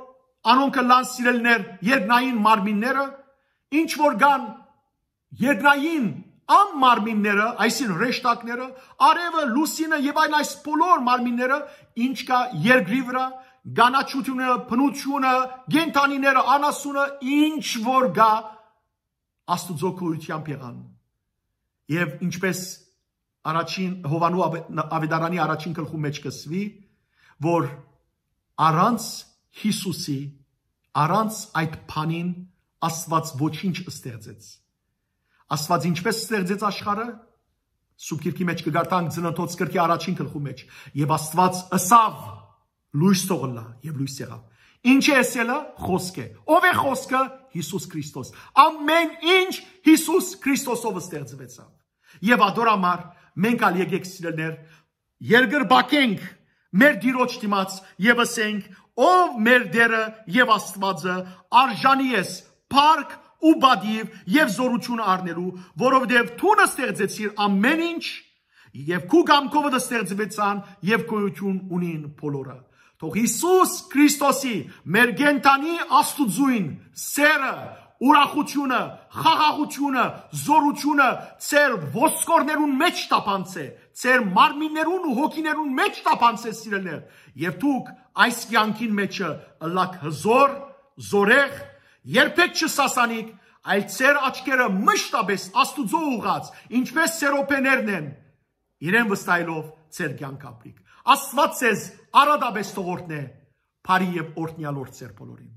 անոնք կ'ըլլան, սիրելիներ, երկնային մարմինները, ինչ որ կան երկնային անմարմինները, այսինքն՝ հրեշտակները, արեւը, լուսինը եւ այլ այս բոլոր մարմինները, ինչ կայ երկրի վրայ, կանաչութիւնը, բնութիւնը, կենդանիները, անասունը, ինչ որ կայ, Աստուծոյ գոյութեամբ եղան։ Եւ ինչպէս առաջին Յովհաննու Ավ-, Աւետարանի առաջին գլխու մէջ կ'ըսուի, որ առանց Յիսուսի, առանց այդ բանին Աստուած ոչինչ ստեղծեց։ Աստուած ինչպէս ստեղծեց աշխարհը, Սուրբ Գիրքի մէջ կը կարդանք Ծննդոց գրքի առաջին գլխու մէջ. «Եւ Աստուած ըսաւ. Լոյս թող ըլլայ, եւ լոյս եղաւ»։ Ինչ է ըսելը? Խօսք է։ Ո՞վ է Խօսքը? Յիսուս Քրիստոս։ Ամէն ինչ Յիսուս Քրիստոսով ստեղծուեցաւ։ Եւ ատոր համար մենք ալ եկեք, սիրելիներ, երկրպագենք մեր Տիրոջ դիմաց եւ ըսենք. «Ով մեր Տէրը եւ Աստուածը, արժանի ես փառք ու պատիւ եւ զօրութիւն առնելու, որովհետեւ դուն ստեղծեցիր ամէն ինչ, եւ քու կամքովդ ստեղծուեցան եւ գոյութիւն ունին բոլորը»։ Թող Յիսուս Քրիստոսի, մեր կենդանի Աստուծոյն սէրը, ուրախութիւնը, խաղաղութիւնը, զօրութիւնը ձեր ոսկորներուն մէջ տապանցէ, ձեր մարմիններուն ու հոգիներուն մէջ տապանցէ, սիրելիներ, եւ դուք այս կեանքին մէջը ըլլաք հզօր, զօրեղ, երբեք չսասանիք, այլ ձեր աչքերը մշտապէս Աստուծոյ ուղղած, ինչպէս սերոբեներն են, իրեն վստահելով ձեր կեանքը ապրիք։ Աստուած ձեզ արատապէս թող օրհնէ, բարի եւ օրհնեալ օր ձեր բոլորին։